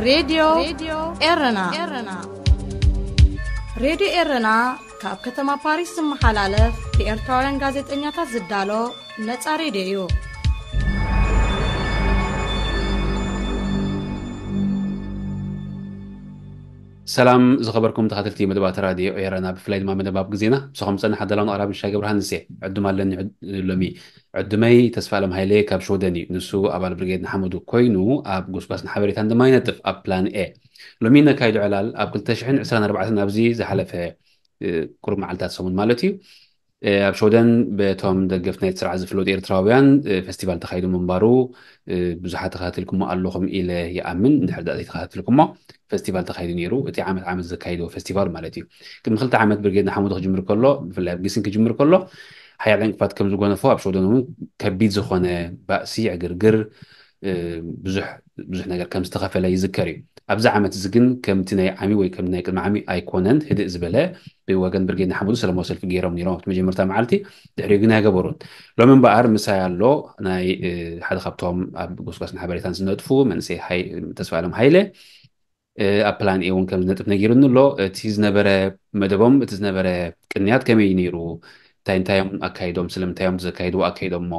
ሬድዮ ኤረና። ሬድዮ ኤረና ካብ ከተማ ፓሪስ ዝመሓላለፍ ብኤርትራውያን ጋዜጠኛታት ዝዳሎ ነጻ ሬድዮ እዩ። ሰላም ዝኸበርኩም ተኸታተልቲ መደባት ራድዮ ኤረና፣ ብፍላይ ድማ መደብ ኣብ ግዜና። ምሳኹም ዝጸንሕ ኣዳላውን ኣቕራቢ ሽሻይ ገብረሃንስ እየ። ዕዱም ኣለኒ ዕድ- ሎሚ። ዕዱመይ ተስፋ ኣለም ሃይለ ካብ ሽወደን እዩ። ንሱ ኣባል ብርጌድ ንሓመዱ ኮይኑ ኣብ ጎስጓስን ሓበሬታን ድማ ይነጥፍ ኣብ ፕላን ኤ። ሎሚ ነካይዶ ዕላል ኣብ ክልተ ሽሕን ዕስራን ኣርባዕተን ኣብዚ ዝሓለፈ እ፣ ቁሩብ መዓልታት ሰሙን ማለት እዩ። እ፣ ኣብ ሽወደን በቶም ደገፍቲ ናይቲ ስርዓት ዝፍለጡ ኤርትራውያን እ፣ ፈስቲቫል ተኻይዱ ምንባሩ እ፣ ብዙሓት ተኸታቲልኩሞ ኣለኹም ኢለ ይኣምን። እንድሕር ዳኣ ዘይተኸታቲልኩሞ ፈስቲቫል ተኻይዱ ነይሩ። እቲ ዓመት ዓመት ዘካይድዎ ፈስቲቫል ማለት እዩ። ቅድሚ ክልተ ዓመት ብርጌድ ንሓመዱ ክጅምር ከሎ፣ ብፍላይ ኣብ ጊስን ክጅምር ከሎ ሓያል ዕንቅፋት ከም ዝጎነፎ፣ ኣብ ሽወደን እውን ከቢድ ዝኾነ ባእሲ፣ ዕግርግር፣ እ፣ ብዙሕ ብዙሕ ነገር ከም ዝተኸፈለ ይዝከር እዩ። ኣብዚ ዓመት እዚ ግን ከምቲ ናይ ዓሚ ወይ ከም ናይ ቅድሚ ዓሚ ኣይኮነን። ህድእ ዝበለ ብወገን ብርጌድ ንሓመዱ ሰለማዊ ሰልፊ ገይሮም ነይሮም ኣብቲ መጀመርታ መዓልቲ፣ ድሕሪኡ ግን ኣይገበሩን። ሎሚ እምበኣር ምሳይ ኣሎ ናይ እ፣ ሓደ ካብቶም ኣብ ጎስጓስን ሓበሬታን ዝነጥፉ መንእሰይ ሃይ- ተስፋ ኣለም ሃይለ እ፣ ኣብ ፕላን ኤ እውን ከም ዝነጥፍ ነጊሩኒ ኣሎ። እቲ ዝነበረ መደቦም፣ እቲ ዝነበረ ቅንያት ከመይ እዩ ነይሩ? እንታይ እንታይ እዮም ኣካይዶም? ስለምንታይ እዮም ዘካይድዎ ኣካይዶም እሞ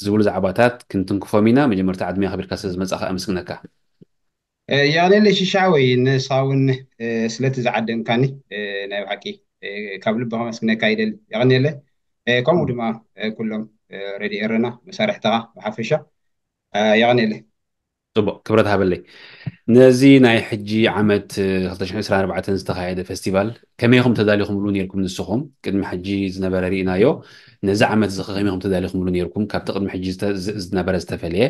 ዝብሉ ዛዕባታት ክንትንክፎም ኢና። መጀመርታ ዕድመ ኣኽቢርካ ስለ ዝመጻኻ ኣመስግነካ። የቐኔለ ሽሻወይ፣ ንስኻ እውን ስለቲ ዝዓደምካኒ ናይ ብሓቂ ካብ ልቢ ከመስግነካ ይደሊ። የቐኔለ። ከምኡ ድማ ኩሎም ሬድዮ ኤረና መሳርሕትኻ ብሓፈሻ። የቐኔለ። ጽቡቕ፣ ክብረት ሃበለይ። ነዚ ናይ ሕጂ ዓመት ክልተ ሽሕን ዕስራን ኣርባዕተን ዝተኻየደ ፈስቲቫል ከመይ ኢኹም ተዳሊኹምሉ ነይርኩም? ንስኹም ቅድሚ ሕጂ ዝነበረ ርኢናዮ፣ ነዚ ዓመት እዚ ከመይ ኢኹም ተዳሊኹምሉ ነይርኩም? ካብቲ ቅድሚ ሕጂ ዝተ- ዝ- ዝነበረ ዝተፈለየ፣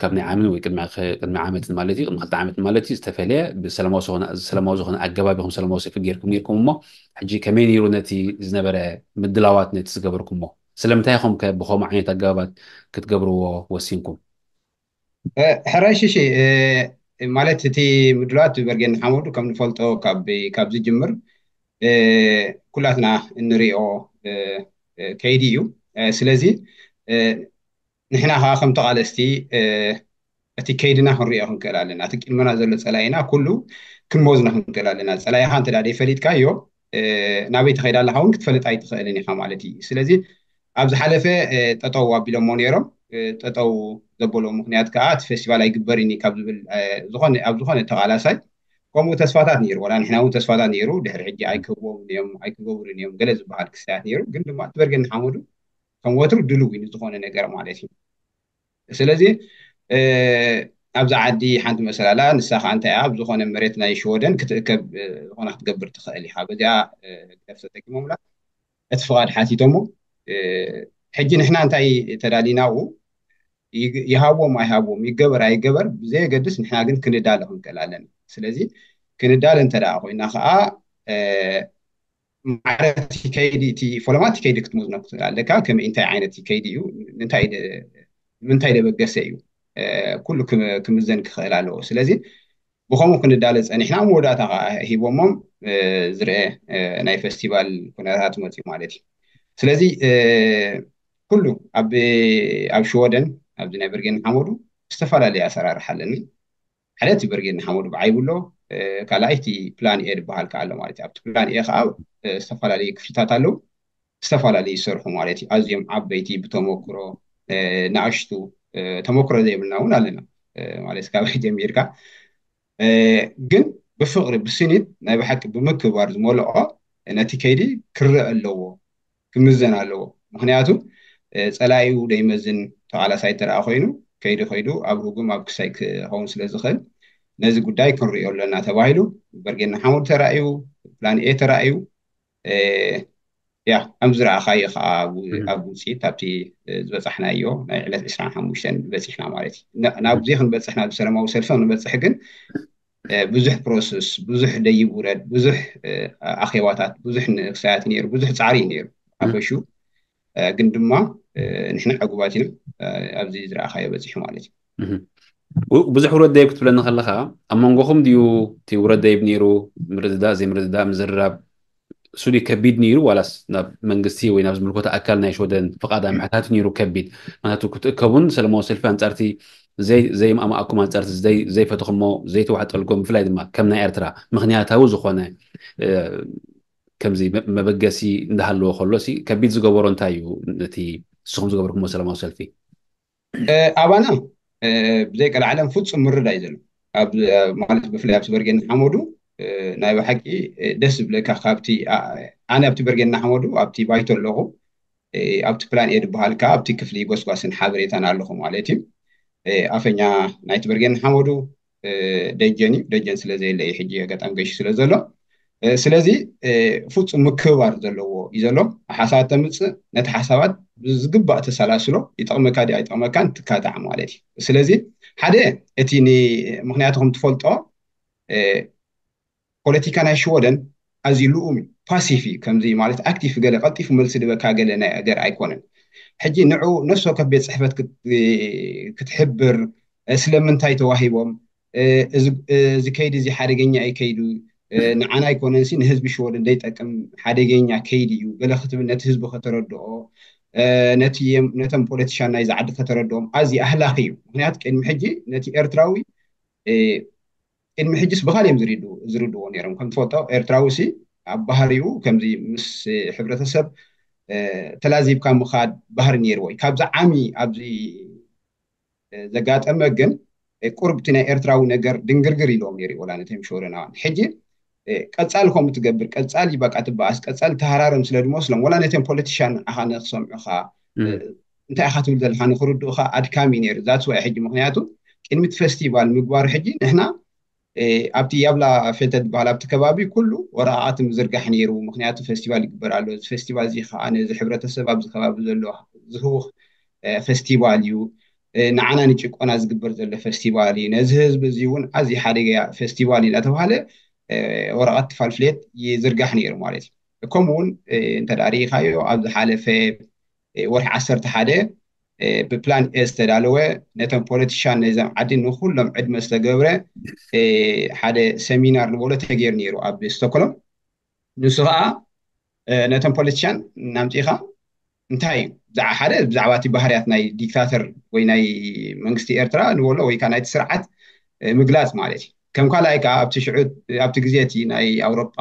ካብ ናይ ዓምን ወይ ቅድሚ ኸ- ቅድሚ ዓመትን ማለት እዩ፣ ቅድሚ ክልተ ዓመት ማለት እዩ ዝተፈለየ ብሰላማዊ ዝኾነ ሰላማዊ ዝኾነ ኣገባብ ኢኹም ሰላማዊ ሰልፊ ጌርኩም ነይርኩም እሞ፣ ሕጂ ከመይ ነይሩ ነቲ ዝነበረ ምድላዋት ነቲ ዝገበርኩሞ? ስለምንታይ ኢኹም ከ ብኸምኡ ዓይነት ኣገባባት ክትገብርዎ ወሲንኩም? ሕራይ ሽሺ፣ ማለት እቲ ምድላዋት በርጌድ ንሓመዱ ከም ንፈልጦ ካብ ካብ ዝጅምር ኩላትና እንሪኦ ከይዲ እዩ። ስለዚ ንሕና ከዓ ከም ተቓለስቲ እቲ ከይድና ክንሪኦ ክንክእል ኣለና። እቲ ቅድመና ዘሎ ፀላኢና ኩሉ ክንመዝኖ ክንክእል ኣለና። ፀላኢኻ እንተ ደኣ ደይፈሊጥካዮ ናበይ ትኸይድ ኣለኻ እውን ክትፈልጥ ኣይትኽእልን ኢኻ ማለት እዩ። ስለዚ ኣብ ዝሓለፈ ጠጠው ኣቢሎሞ ነይሮም። ጠጠው ዘበሎ ምክንያት ከዓ እቲ ፌስቲቫል ኣይግበርን እዩ ካብ ዝብል ዝኾነ ኣብ ዝኾነ ተቓላሳይ ከምኡ ተስፋታት ነይሩ። ዋላ ንሕና እውን ተስፋታት ነይሩ። ድሕሪ ሕጂ ኣይክህብዎም እዮም ኣይክገብሩን እዮም ገለ ዝበሃል ክስታት ነይሩ። ግን ድማ እቲ በርጌድ ንሓመዱ ከም ወትሩ ድልው እዩ ንዝኾነ ነገር ማለት እዩ። ስለዚ ኣብዚ ዓዲ ሓንቲ መሰላላ ንሳ ከዓ እንታይ ኣብ ዝኾነ መሬት ናይ ሽወደን ክትእከብ ዝኾነ ክትገብር ትኽእል ኢኻ። በዚኣ ግደፍ ተጠቂሞምላ እቲ ፍቓድ ሓቲቶሞ ሕጂ ንሕና እንታይ ተዳሊናኡ ይሃብዎም ኣይሃብዎም ይገበር ኣይገበር ብዘየገድስ ንሕና ግን ክንዳለ ክንክእል ኣለና። ስለዚ ክንዳለ እንተ ደኣ ኮይና ከዓ ማዕረ እቲ ከይዲ እቲ ፈለማ እቲ ከይዲ ክትምዝኖ ክትኽእል ኣለካ። ከመይ እንታይ ዓይነት ከይዲ እዩ እንታይ ምንታይ ደበገሰ እዩ ኩሉ ክምዘን ክኽእል ኣለዎ። ስለዚ ብኸምኡ ክንዳለ ፀኒሕና መወዳእታ ከዓ ሂቦሞም ዝርአ ናይ ፈስቲቫል ኩነታት መፅኡ ማለት እዩ። ስለዚ ኩሉ ኣብ ኣብ ሽወደን ኣብዚ ናይ በርጌድ ንሓመዱ ዝተፈላለየ ኣሰራርሓ ኣለና። ሓደ እቲ በርጌድ ንሓመዱ ብዓይቡ ኣሎ። ካልኣይ እቲ ፕላን ኤ ዝበሃል ከዓ ኣሎ ማለት እዩ። ኣብቲ ፕላን ኤ ከዓ ዝተፈላለዩ ክፍልታት ኣለዉ። ዝተፈላለዩ ዝሰርሑ ማለት እዩ። ኣዝዮም ዓበይቲ ብተመክሮ ንኣሽቱ ተመክሮ ዘይብልና እውን ኣለና ማለት ካብ ጀሚርካ ግን ብፍቕሪ ብስኒት ናይ ብሓቂ ብምክባር ዝመልኦ ነቲ ከይዲ ክረአ ኣለዎ ክምዘን ኣለዎ። ምክንያቱ ፀላኢኡ ደይመዝን ተቓላሳይ ተረኣ ኮይኑ ከይዲ ከይዱ ኣብ ህጉም ኣብ ክሳይ ክኸውን ስለ ዝኽእል ነዚ ጉዳይ ክንሪኦ ኣለና ተባሂሉ በርጌድ ንሓመዱ ተራእዩ ፕላን ኤ ተራእዩ ያ ከም ዝረኣኻዮ ከዓ ኣብ ውፅኢት ኣብቲ ዝበፃሕናዮ ናይ ዕለት ዕስራን ሓሙሽተን በፂሕና ማለት እዩ። ናብዚ ክንበፅሕ ናብ ሰላማዊ ሰልፊ ክንበፅሕ ግን ብዙሕ ፕሮሰስ ብዙሕ ደይብ ውረድ ብዙሕ ኣኼባታት ብዙሕ ንክሳያት ነይሩ ብዙሕ ፃዕሪ እዩ ነይሩ። ኣፈሹ ግን ድማ ንሕና ዕጉባት ኢና ኣብዚ ዝረኣኻዮ በፂሑ ማለት እዩ። ብዙሕ ውረድ ደይብ ክትብለኒ ከለካ ኣብ መንጎኹም ድዩ እቲ ውረድ ደይብ ነይሩ? ምርድዳእ ዘይምርድዳእ ምዝርራብ እሱ ድዩ ከቢድ ነይሩ ዋላስ ናብ መንግስቲ ወይ ናብ ዝምልከቶ ኣካል ናይ ሽወደን ፍቓድ ምሕታት ነይሩ ከቢድ? ምክንያቱ ክትእከቡን ሰለማዊ ሰልፊ ኣንፃርቲ ዘይማእማኣኩም ኣንፃርቲ ዘይፈተኹሞ ዘይተዋሕጠልኩም ብፍላይ ድማ ከም ናይ ኤርትራ ምክንያታዊ ዝኾነ ከምዚ መበገሲ እንዳሃለዎ ከሎ ከቢድ ዝገበሮ እንታይ እዩ? ነቲ ንስኹም ዝገበርኩሞ ሰላማዊ ሰልፊ ኣባና ብዘይ ቀልዓለም ፍፁም ምርዳእ እዩ ዘሎ። ማለት ብፍላይ ኣብቲ በርጌድ ንሓመዱ ናይ ብሓቂ ደስ ዝብለካ ካብቲ ኣነ ኣብቲ በርጌድ ንሓመዱ ኣብቲ ባይቶ ኣለኹ ኣብቲ ፕላን ኤ ዝበሃል ከዓ ኣብቲ ክፍሊ ጎስጓስን ሓበሬታን ኣለኹ ማለት እዩ። ኣፈኛ ናይቲ በርጌድ ንሓመዱ ደጀን እዩ። ደጀን ስለ ዘየለ እዩ ሕጂ ኣጋጣሚ ገይሹ ስለ ዘሎ ስለዚ ፍፁም ምክብባር ዘለዎ እዩ ዘሎ። ሓሳባት ተምፅእ ነቲ ሓሳባት ብዝግባእ ተሰላስሎ ይጠቕመካ ድዩ ኣይጠቕመካን ትካታዕ ማለት እዩ። ስለዚ ሓደ እቲ ምክንያቱ ከም ትፈልጦ ፖለቲካ ናይ ሽወደን ኣዝዩ ልኡም እዩ፣ ፓሲቭ እዩ። ከምዚ ማለት ኣክቲቭ ገለ ቀልጢፉ መልሲ ድበካ ገለ ናይ ኣገር ኣይኮነን። ሕጂ ንዑ ነፍሲ ወከፍ ቤት ፅሕፈት ክትሕብር ስለምንታይ ተዋሂቦም እዚ ከይዲ እዚ ሓደገኛ እዩ ከይዱ ንዓና ኣይኮነንሲ ንህዝቢ ሽወደን ዘይጠቅም ሓደገኛ ከይዲ እዩ ገለ ክትብል ነቲ ህዝቢ ከተረድኦ ነቶም ፖለቲሻን ናይዚ ዓዲ ከተረድኦም ኣዝዩ ኣህላኺ እዩ። ምክንያቱ ቅድሚ ሕጂ ነቲ ኤርትራዊ ቅድሚ ሕጅስ ብኻል እዮም ዝርድዎ ነይሮም። ከም ትፈልጦ ኤርትራዊ ሲ ኣብ ባህሪኡ ከምዚ ምስ ሕብረተሰብ ተላዚብካ ምኻድ ባህሪ ነይርዎ እዩ። ካብዚ ዓሚ ኣብዚ ዘጋጠመ ግን ቁርብቲ ናይ ኤርትራዊ ነገር ድንግርግር ኢልዎም ነይሩ ወላ ነቶም ሽወደናውያን። ሕጂ ቀጻሊ ከምኡ ትገብር ቀጻሊ በቃ ትበኣስ ቀጻሊ ተሃራረም ስለ ዝመስሎም ወላ ነቶም ፖለቲሻን ንዓኻ ንክሰምዑኻ እንታይ ኢኻ ትብል ዘለካ ንክርድኡካ ኣድካሚ ነይሩ። ዛትስ ዋይ ሕጂ ምክንያቱ ቅድሚ እቲ ፈስቲቫል ምግባሩ ሕጂ ንሕና ኣብቲ ያብላ ፌልተ ዝበሃል ኣብቲ ከባቢ ኩሉ ወረቃቅቲ ምዝርጋሕ ነይሩ። ምክንያቱ ፈስቲቫል ይግበር ኣሎ። እዚ ፈስቲቫል እዚ ከዓ ነዚ ሕብረተሰብ ኣብዚ ከባቢ ዘሎ ዝህውኽ ፈስቲቫል እዩ። ንዓና ንጭቆና ዝግበር ዘሎ ፈስቲቫል እዩ። ነዚ ህዝቢ እዚ እውን ኣዝዩ ሓደገያ ፈስቲቫል እዩ እናተባሃለ ወረቀት ፋልፍሌት ይዝርጋሕ ነይሩ ማለት እዩ። ከምኡ እውን እንተ ርኢኻዮ ኣብ ዝሓለፈ ወርሒ ዓሰርተ ሓደ ብፕላን ኤ ዝተዳለወ ነቶም ፖለቲሻን ናይዞም ዓዲ ንኩሎም ዕድመ ዝተገብረ ሓደ ሰሚናር ንበሎ ተገይሩ ነይሩ ኣብ ስቶክሆልም። ንሱ ከዓ ነቶም ፖለቲሻን እናምፂእኻ እንታይ እዩ ሓደ ብዛዕባ እቲ ባህርያት ናይ ዲክታተር ወይ ናይ መንግስቲ ኤርትራ ንበሎ ወይ ከዓ ናይቲ ስርዓት ምግላፅ ማለት እዩ። ከም ካልኣይ ከዓ ኣብቲ ሽዑ ኣብቲ ግዜ እቲ ናይ ኣውሮጳ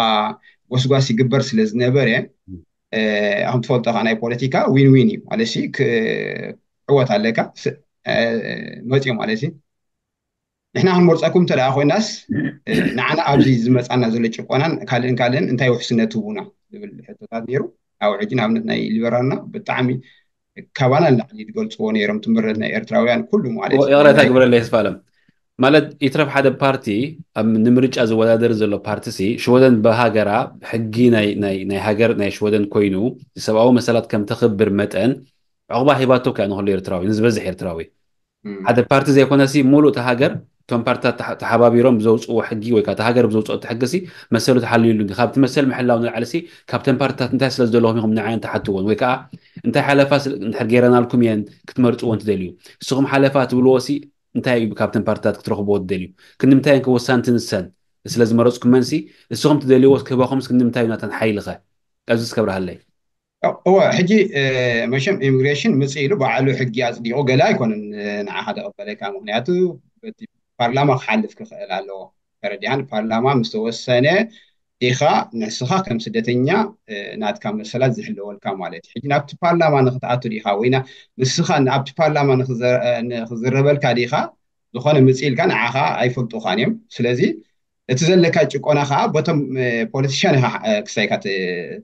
ጎስጓስ ይግበር ስለ ዝነበረ ከም ትፈልጦ ከዓ ናይ ፖለቲካ ዊን ዊን እዩ ማለት ሲ ክዕወት ኣለካ መፅዮ ማለት እዩ። ንሕና ክንመርፀኩም እንተ ኮይናስ ንዓና ኣብዚ ዝመፃና ዘሎ ጭቆናን ካልእን ካልእን እንታይ ውሕስነት ህቡና ዝብል ሕቶታት ነይሩ። ኣብ ሕጂ ንኣብነት ናይ ሊበራልና ብጣዕሚ ካባና ንላዕሊ ዝገልፅዎ ነይሮም ትምህርት ናይ ኤርትራውያን ኩሉ ማለት እዩ። ይቕረታ ግበረለይ ተስፋለም። ማለት ይትረፍ ሓደ ፓርቲ ኣብ ንምርጫ ዝወዳደር ዘሎ ፓርቲ ሲ ሽወደን ብሃገራ ሕጊ ናይ ናይ ናይ ሃገር ናይ ሽወደን ኮይኑ ሰብኣዊ መሰላት ከም ተኽብር መጠን ዕቑባ ሂባቶ ከኣ ንኹሉ ኤርትራዊ ንዝበዝሕ ኤርትራዊ ሓደ ፓርቲ ዘይኮነ ሲ ሙሉእ እቲ ሃገር እቶም ፓርትታት ተሓባቢሮም ብዘውፅዎ ሕጊ ወይ ከዓ ሃገር ብዘውፅኦ ሕጊ ሲ መሰሉ ተሓልዩሉ ካብቲ መሰል ምሕላው ንላዕሊ ሲ ካብተን ፓርትታት እንታይ ስለ ዝደለኹም ኢኹም ንዓየን ትሓትዎን ወይ ከዓ እንታይ ሓለፋ እንድሕር ገይረናልኩም እየን ክትመርፅዎ እንትደልዩ ንስኹም ሓለፋ ትብልዎ ሲ እንታይ እዩ ካብተን ፓርትታት ክትረኽብዎ ትደልዩ? ክንዲ ምንታይ እየን ከ ወሳንቲ ንሰን ስለ ዝመረፅኩመን ሲ ንስኹም ትደልይዎ ክህባኹምስ ክንዲ ምንታይ እዩ ናተን ሓይሊ ኸ? ኣብዚ እስከ ኣብርሃለይ። እወ ሕጂ መሸም ኢሚግሬሽን ምፅ ኢሉ ባዕሉ ሕጊ ኣፅዲቑ ገለ ኣይኮነን ንዓኻ ተቐበለካ። ምክንያቱ በቲ ፓርላማ ክሓልፍ ክኽእል ኣለዎ። ተረዲሃን ፓርላማ ምስ ተወሰነ ኢኻ ንስኻ ከም ስደተኛ ናትካ መሰላት ዝሕለወልካ ማለት እዩ። ሕጂ ናብቲ ፓርላማ ንክትኣቱ ዲኻ ወይ ንስኻ ኣብቲ ፓርላማ ንክዝረበልካ ዲኻ ዝኾነ ምፅእ ኢልካ ንዓኻ ኣይፈልጡኻን እዮም። ስለዚ እቲ ዘለካ ጭቆና ከዓ ቦቶም ፖለቲሽያን ኢኻ ክሳይካ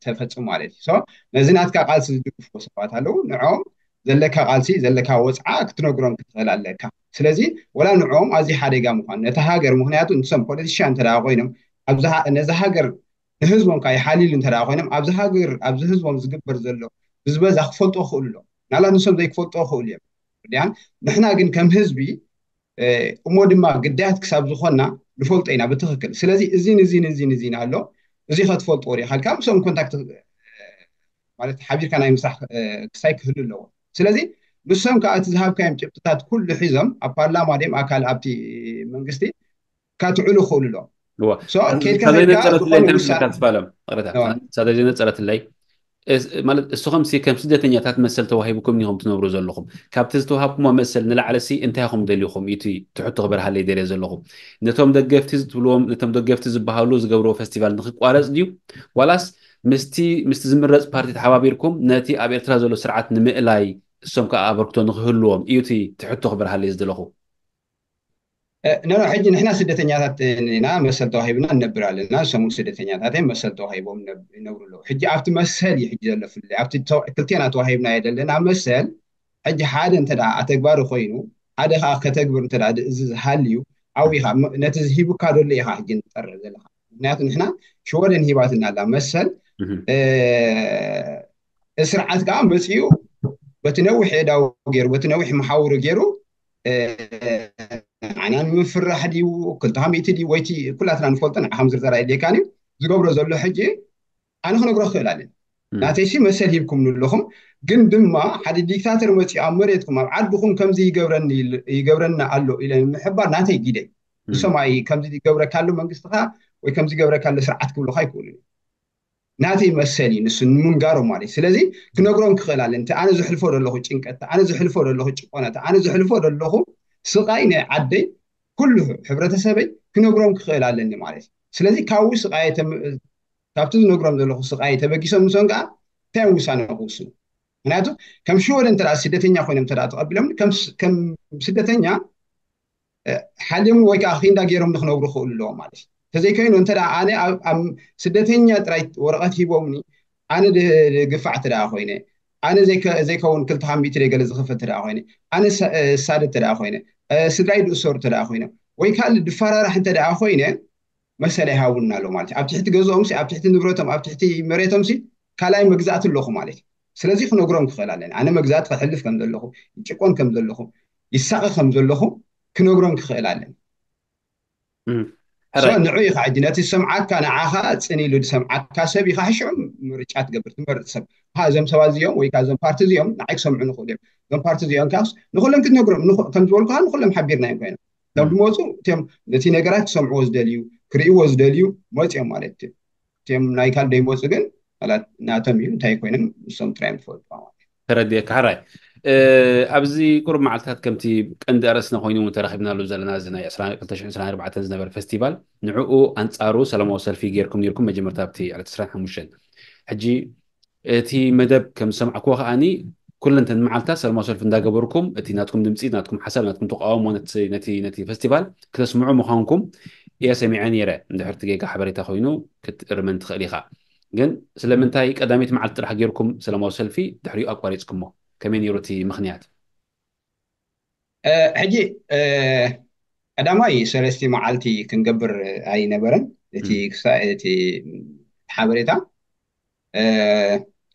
ተፈፅም ማለት እዩ። ነዚ ናትካ ቃልሲ ዝድግፍዎ ሰባት ኣለዉ። ንዕኦም ዘለካ ቃልሲ ዘለካ ወፅዓ ክትነግሮም ክትኽእል ኣለካ። ስለዚ ወላ ንዕኦም ኣዝዩ ሓደጋ ምኳኑ ነቲ ሃገር ምክንያቱ ንሶም ፖለቲሽያን እንተ ኮይኖም ነዚ ሃገር ንህዝቦም ከዓ ይሓልይሉ እንተ ኮይኖም ኣብዚ ሃገር ኣብዚ ህዝቦም ዝግበር ዘሎ ብዝበዛ ክፈልጦ ክኽእሉ ኣሎ። ናላት ንሶም ዘይክፈልጦ ክኽእሉ እዮም። ዲያን ንሕና ግን ከም ህዝቢ እሞ ድማ ግዳያት ክሳብ ዝኾንና ንፈልጦ ኢና ብትኽክል። ስለዚ እዚን እዚን እዚን እዚን ኣሎ እዚ ከትፈልጥዎ ዲኻ ኢልካ ምስኦም ኮንታክት ማለት ሓቢርካ ናይ ምስራሕ ክሳይ ክህሉ ኣለዎ። ስለዚ ንሶም ከዓ እቲ ዝሃብካዮም ጭብጥታት ኩሉ ሒዞም ኣብ ፓርላማ ድም ኣካል ኣብቲ መንግስቲ ካትዕሉ ክኽእሉ ኣለዎም። ከይድካ ዘይነፀረትለይ እንታይ መስለካ ዝፋለም ቅረታ ሳተ ዘይነፀረትለይ ማለት እስኹም ሲ ከም ስደተኛታት መሰል ተዋሂብኩም ኢኹም ትነብሩ ዘለኹም። ካብቲ ዝተዋሃብኩሞ መሰል ንላዕሊ ሲ እንታይ ኢኹም ደሊኹም? እቲ ትሕቶ ክበርሃለይ ደልየ ዘለኹ። ነቶም ደገፍቲ ዝትብልዎም፣ ነቶም ደገፍቲ ዝበሃሉ ዝገብርዎ ፈስቲቫል ንክቋረጽ ድዩ? ዋላስ ምስቲ ምስቲ ዝምረጽ ፓርቲ ተሓባቢርኩም ነቲ ኣብ ኤርትራ ዘሎ ስርዓት ንምእላይ እሶም ከኣ ኣበርክቶ ንክህልዎም እዩ እቲ ትሕቶ ክበርሃለይ ዝደለኹ። ኖ ሕጂ ንሕና ስደተኛታት ኢና፣ መሰል ተዋሂብና ንነብር ኣለና። ሰሙን ስደተኛታት መሰል ተዋሂቦም ይነብሩ ኣለዉ። ሕጂ ኣብቲ መሰል እዩ ሕጂ ዘሎ ፍለ ኣብቲ ክልቴና ተዋሂብና የደለና መሰል ሕጂ ሓደ እንተ ኣተግባሪ ኮይኑ ሓደ ከዓ ከተግብር እንተ እዚ ዝሃልዩ ኣብኡ ኢኻ ነቲ ዝሂቡካ ደሎ ኢኻ ሕጂ ንጠረ ዘለካ። ምክንያቱ ንሕና ሽወደን ሂባትና ኣላ መሰል ስርዓት ከዓ መፅኡ በቲ ነዊሕ ዕዳው ገይሩ በቲ ነዊሕ መሓውሩ ገይሩ ዓና ንምፍራሕ ድዩ ክልተ ሚእቲ ድዩ ወይቲ ኩላትና ንፈልጦ ንዓ ከም ዝርዘር ኣይድልየካን እዩ ዝገብሮ ዘሎ ሕጂ ኣነ ክነግሮ ክኽእል ኣለን። ናተይሲ መሰል ሂብኩም ኣለኹም፣ ግን ድማ ሓደ ዲክታተር መፂኡ ኣብ መሬትኩም ኣብ ዓድኹም ከምዚ ይገብረኒ ኣሎ ኢለ ንምሕባር ናተይ ግደይ። ንሶም ኣይ ከምዚ ይገብረካ ኣሎ መንግስትኻ ወይ ከምዚ ይገብረካ ኣሎ ስርዓት ክብሉካ ኣይክእሉን። ናተይ መሰል እዩ ንሱ ንምንጋሮም ማለት እዩ። ስለዚ ክነግሮም ክኽእል ኣለ እቲ ኣነ ዝሕልፎ ዘለኹ ጭንቀት፣ ኣነ ዝሕልፎ ዘለኹ ጭቆና፣ ኣነ ዝሕልፎ ዘለኹ ስቓይ ናይ ዓደይ ኩሉ ሕብረተሰበይ ክነግሮም ክኽእል ኣለኒ ማለት እዩ። ስለዚ ካብኡ ስቓይ ካብቲ ዝነግሮም ዘለኹ ስቓይ ተበጊሶም ንሶም ከዓ እንታይ ውሳነ ክውስኑ? ምክንያቱ ከም ሽወደን እንተ ስደተኛ ኮይኖም እንተ ተቐቢሎም ከም ስደተኛ ሓልዮም ወይ ከዓ ኪንዳ ገይሮም ንክነብሩ ክኽእሉ ኣለዎም ማለት እዩ። ተዘይኮይኑ እንተ ኣነ ስደተኛ ጥራይ ወረቐት ሂቦምኒ ኣነ ግፋዕ እንተ ኮይነ ኣነ ዘይከውን ክልተ ካብ ሚእቲ ገለ ዝኽፈል እንተ ኮይነ ኣነ ሳደ እንተ ኮይነ ስድራይ ድእሰሩ እንተ ኮይነ ወይ ካልእ ድፈራራሕ እንተ ኮይነ መሰል ኣይሃቡና ኣሎ ማለት እዩ። ኣብ ትሕቲ ገዝኦም ኣብ ትሕቲ ንብረቶም ኣብ ትሕቲ መሬቶም ካልኣይ መግዛእቲ ኣለኹ ማለት እዩ። ስለዚ ክነግሮም ክኽእል ኣለኒ ኣነ መግዛእቲ ክሕልፍ ከም ዘለኹ ይጭቆን ከም ዘለኹ ይሳቐ ከም ዘለኹ ክነግሮም ክኽእል ኣለኒ። ንዑ ኢኻ ሕጂ ነቲ ዝሰምዓካ ንዓኻ ፅን ኢሉ ዝሰምዓካ ሰብ ኢኻ ሕሽዑ ምርጫ ትገብር ትመርፅ ሰብ እዞም ሰባት እዚኦም ወይ እዞም ፓርቲ እዚኦም ንዓይ ክሰምዑ ንኽእሉ እዮም እዞም ፓርቲ እዚኦም ካስ ንኩሎም ክትነግሮም ከም ዝበልኩኻ ንኩሎም ሓቢርና እዮም ኮይኖም እዞም ዝመፁ እቲኦም ነቲ ነገራት ክሰምዕዎ ዝደልዩ ክርእይዎ ዝደልዩ መፂኦም ማለት እዩ። እቲኦም ናይ ካልእ ዘይመፁ ግን ናቶም እዩ እንታይ ኮይኖም ንሶም ጥራይ እዮም ዝፈልጡ ማለት እዩ። ተረድኤካ ሕራይ። ኣብዚ ቁሩብ መዓልትታት ከምቲ ቀንዲ ኣርእስትና ኮይኑ እውን ተረኺብናሉ ዘለና እዚ ናይ ዕስራን ክልተ ሽሕን ዕስራን ኣርባዕተን ዝነበረ ፈስቲቫል ንዕኡ ኣንፃሩ ሰላማዊ ሰልፊ ጌርኩም ኔርኩም መጀመርታ ኣብቲ ዕለት ዕስራን ሓሙሽተን። ሕጂ እቲ መደብ ከም ዝሰማዕክዎ ከዓኒ ኩለን እተን መዓልታት ሰላማዊ ሰልፊ እንዳገበርኩም እቲ ናትኩም ድምፂ ናትኩም ሓሳብ ናትኩም ተቃውሞ ነቲ ነቲ ነቲ ፈስቲቫል ክተስምዑ ምዃንኩም እየ ሰሚዐ ነይረ። እንድሕር እቲ ጌጋ ሓበሬታ ኮይኑ ክትእርመን ትኽእል ኢኻ። ግን ስለምንታይ ቀዳመይቲ መዓልቲ ጥራሕ ጌርኩም ሰላማዊ ሰልፊ ድሕሪኡ ኣቋሪፅኩሞ? ከመይ ነይሩ እቲ ምኽንያት? ሕጂ ቀዳማይ ሰለስቲ መዓልቲ ክንገብር ኣይነበረን። እቲ ክሳ እቲ ሓበሬታ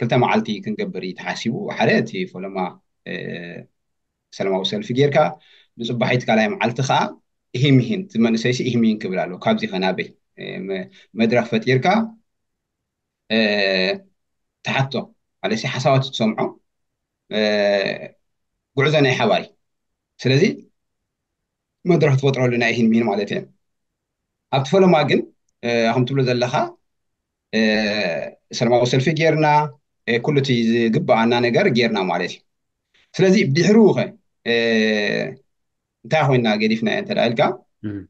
ክልተ መዓልቲ ክንገብር እዩ ተሓሲቡ። ሓደ እቲ ፈለማ ሰላማዊ ሰልፊ ጌርካ ብፅባሒት ካልኣይ መዓልቲ ከዓ ኢሂም ኢሂን እቲ መንእሰይሲ ኢሂም ኢሂን ክብል ኣለዎ። ካብዚ ከ ናበይ መድረኽ ፈጢርካ ትሓቶ ማለት ሓሳባት ትሰምዖ ጉዕዞ ናይ ሓባር እዩ። ስለዚ መድረኽ ትፈጥረሉ ናይ ኢሂን ሚሂን ማለት እየ። ኣብቲ ፈለማ ግን ከም ትብሎ ዘለኻ ሰላማዊ ሰልፊ ጌርና ኩሉ እቲ ዝግበኣና ነገር ጌርና ማለት እዩ። ስለዚ ድሕሩ ከ እንታይ ኮይና ገዲፍና እንተ ኢልካ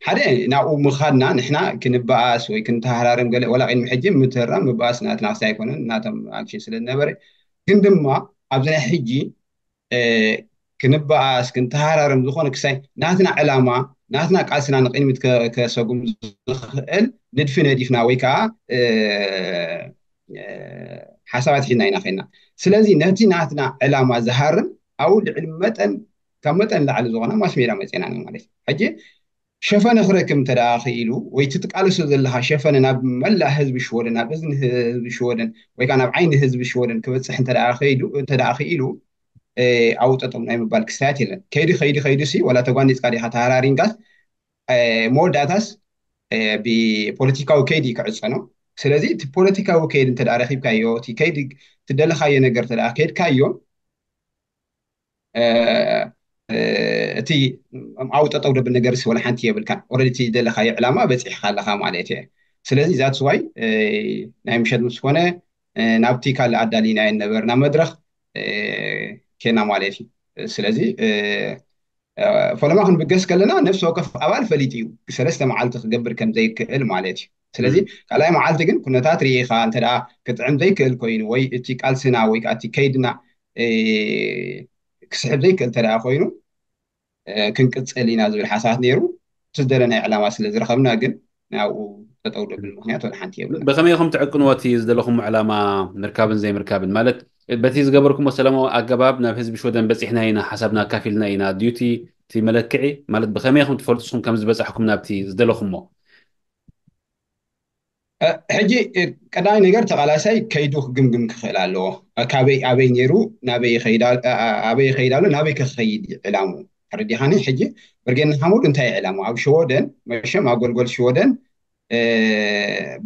ሓደ ናብኡ ምኻድና ንሕና ክንበኣስ ወይ ክንተሃራርም ገለ ወላ ቅድሚ ሕጂ ምትህራም ምበኣስ ናትና ክሳይ ኣይኮነን ናቶም ኣክሽን ስለ ዝነበረ ግን ድማ ኣብዚ ናይ ሕጂ ክንበኣስ ክንተሃራርም ዝኾነ ክሳይ ናትና ዕላማ ናትና ቃልስና ንቅድሚት ከሰጉም ዝኽእል ንድፊ ነዲፍና ወይ ከዓ ሓሳባት ሒዝና ኢና ኸና ስለዚ ነቲ ናትና ዕላማ ዝሃርም ኣብኡ ልዕሊ መጠን ካብ መጠን ላዕሊ ዝኾነ ማስሜዳ መፅና ማለት እዩ። ሕጂ ሸፈነ ክረክብ እንተ ክኢሉ ወይ ትትቃለሶ ዘለካ ሸፈነ ናብ መላእ ህዝቢ ሽወደን ናብ እዝኒ ህዝቢ ሽወደን ወይ ከዓ ናብ ዓይኒ ህዝቢ ሽወደን ክበፅሕ እንተ ክኢሉ ኣብኡ ጠጠው ናይ ምባል ክስታያት የለን። ከይዲ ከይዲ ከይዲ ሲ ወላ ተጓኒፅካ ዲካ ተሃራሪንካስ መወዳእታስ ብፖለቲካዊ ከይዲ ክዕፀኖ። ስለዚ እቲ ፖለቲካዊ ከይዲ እንተ ረኪብካዮ እቲ ከይዲ ትደለካዮ ነገር ተ ከይድካዮ እቲ ኣብኡ ጠጠው ደብል ነገር ሲ ወላ ሓንቲ የብልካ። ኦረዲ እቲ ዝደለካዮ ዕላማ በፂሕካ ኣለካ ማለት እየ። ስለዚ ዛትስ ዋይ ናይ ምሸት ምስ ኮነ ናብቲ ካልእ ኣዳሊናዮ ነበርና መድረኽ ኬና ማለት እዩ። ስለዚ ፈለማ ክንብገስ ከለና ነፍሲ ወከፍ ኣባል ፈሊጡ እዩ። ሰለስተ መዓልቲ ክገብር ከም ዘይክእል ማለት እዩ። ስለዚ ካልኣይ መዓልቲ ግን ኩነታት ርኢኻ እንተ ክትጥዕም ዘይክእል ኮይኑ ወይ እቲ ቃልስና ወይ ከዓ እቲ ከይድና ክስሕብ ዘይክእል እንተ ኮይኑ ክንቅፅል ኢና ዝብል ሓሳባት ነይሩ። እቲ ዝደለናዮ ዕላማ ስለ ዝረኸብና ግን ናብኡ ጠጠው ደብል ምክንያት ወላ ሓንቲ የብልና። ብኸመይ ኢኹም ትዕቅንዎ እቲ ዝደለኹም ዕላማ ምርካብን ዘይምርካብን? ማለት በቲ ዝገበርኩሞ ሰላማዊ ኣገባብ ናብ ህዝቢ ሽወደን በፂሕና ኢና፣ ሓሳብና ኣካፊልና ኢና ድዩ እቲ መለክዒ? ማለት ብኸመይ ኢኹም ትፈልጡ ንስኹም ከም ዝበፃሕኩም ናብቲ ዝደለኹሞ? ሕጂ ቀዳማይ ነገር ተቓላሳይ ከይዱ ክግምግም ክኽእል ኣለዎ። ካበይ ኣበይ ነይሩ ናበይ ይኸይድ ኣሎ ናበይ ከ ክኸይድ እዩ ዕላሙ? ተረዲኻኒ? ሕጂ ብርጌድ ንሓመዱ እንታይ እዩ ዕላሙ? ኣብ ሽወደን መሸም ኣጎልጎል ሽወደን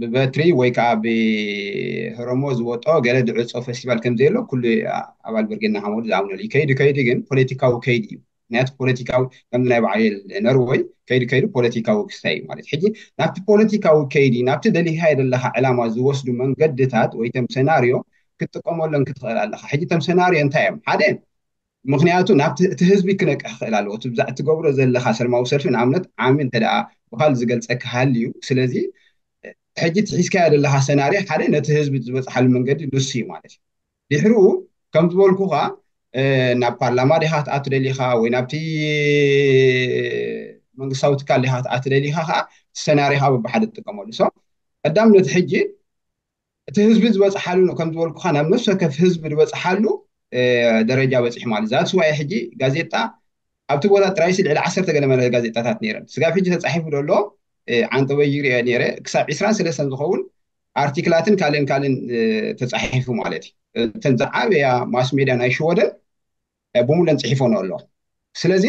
ብበትሪ ወይ ከዓ ብህረሞ ዝወጦ ገለ ዝዕፆ ፈስቲቫል ከም ዘየሎ ኩሉ ኣባል ብርጌድ ንሓመዱ ዝኣምነሉ እዩ። ከይዱ ከይዱ ግን ፖለቲካዊ ከይዲ እዩ። ምክንያቱ ፖለቲካዊ ከምዚ ናይ በዓል ነርወይ ከይዱ ከይዱ ፖለቲካዊ ክስታይ እዩ ማለት። ሕጂ ናብቲ ፖለቲካዊ ከይዲ ናብቲ ደሊኻዮ ዘለኻ ዕላማ ዝወስዱ መንገድታት ወይ ተም ሰናርዮ ክትጥቀመሎም ክትኽእል ኣለኻ። ሕጂ ተም ሰናርዮ እንታይ እዮም? ሓደ ምክንያቱ ናብቲ እቲ ህዝቢ ክነቅሕ ክኽእል ኣለዎ። እቲ ብዛዕ ትገብሮ ዘለኻ ሰልማዊ ሰልፊ ንኣብነት ዓሚ እንተ ደኣ ብካል ዝገልጸ ክሃል እዩ። ስለዚ ሕጂ ትሒዝካዮ ዘለኻ ሰናርዮ ሓደ ነቲ ህዝቢ ዝበፅሓሉ መንገዲ ንሱ እዩ ማለት እዩ። ድሕሪኡ ከም ዝበልኩኻ ናብ ፓርላማ ዲኻ ክትኣቱ ደሊኻ ወይ ናብቲ መንግስታዊ ትካል ዲኻ ክትኣቱ ደሊኻ ከዓ ሰናሪኻ በብሓደ ትጥቀመሉ። ሶ ቀዳምነት ሕጂ እቲ ህዝቢ ዝበፅሓሉ ከም ዝበልኩኻ ናብ ነፍሲ ወከፍ ህዝቢ ዝበፅሓሉ ደረጃ በፂሑ ማለት ዛት ስዋይ ሕጂ ጋዜጣ ኣብቲ ቦታ ጥራይሲ ልዕሊ ዓሰርተ ገለ መለ ጋዜጣታት ነይረን። ስጋብ ሕጂ ተፃሒፉ ደሎ ዓንጠበይ ይሪኦ ነይረ ክሳብ ዕስራን ሰለስተን ዝኸውን ኣርቲክላትን ካልእን ካልእን ተፃሒፉ ማለት እዩ። እተን ዝዓበያ ማስ ሜድያ ናይ ሽወደን ብሙለን ፅሒፎን ኣሎ። ስለዚ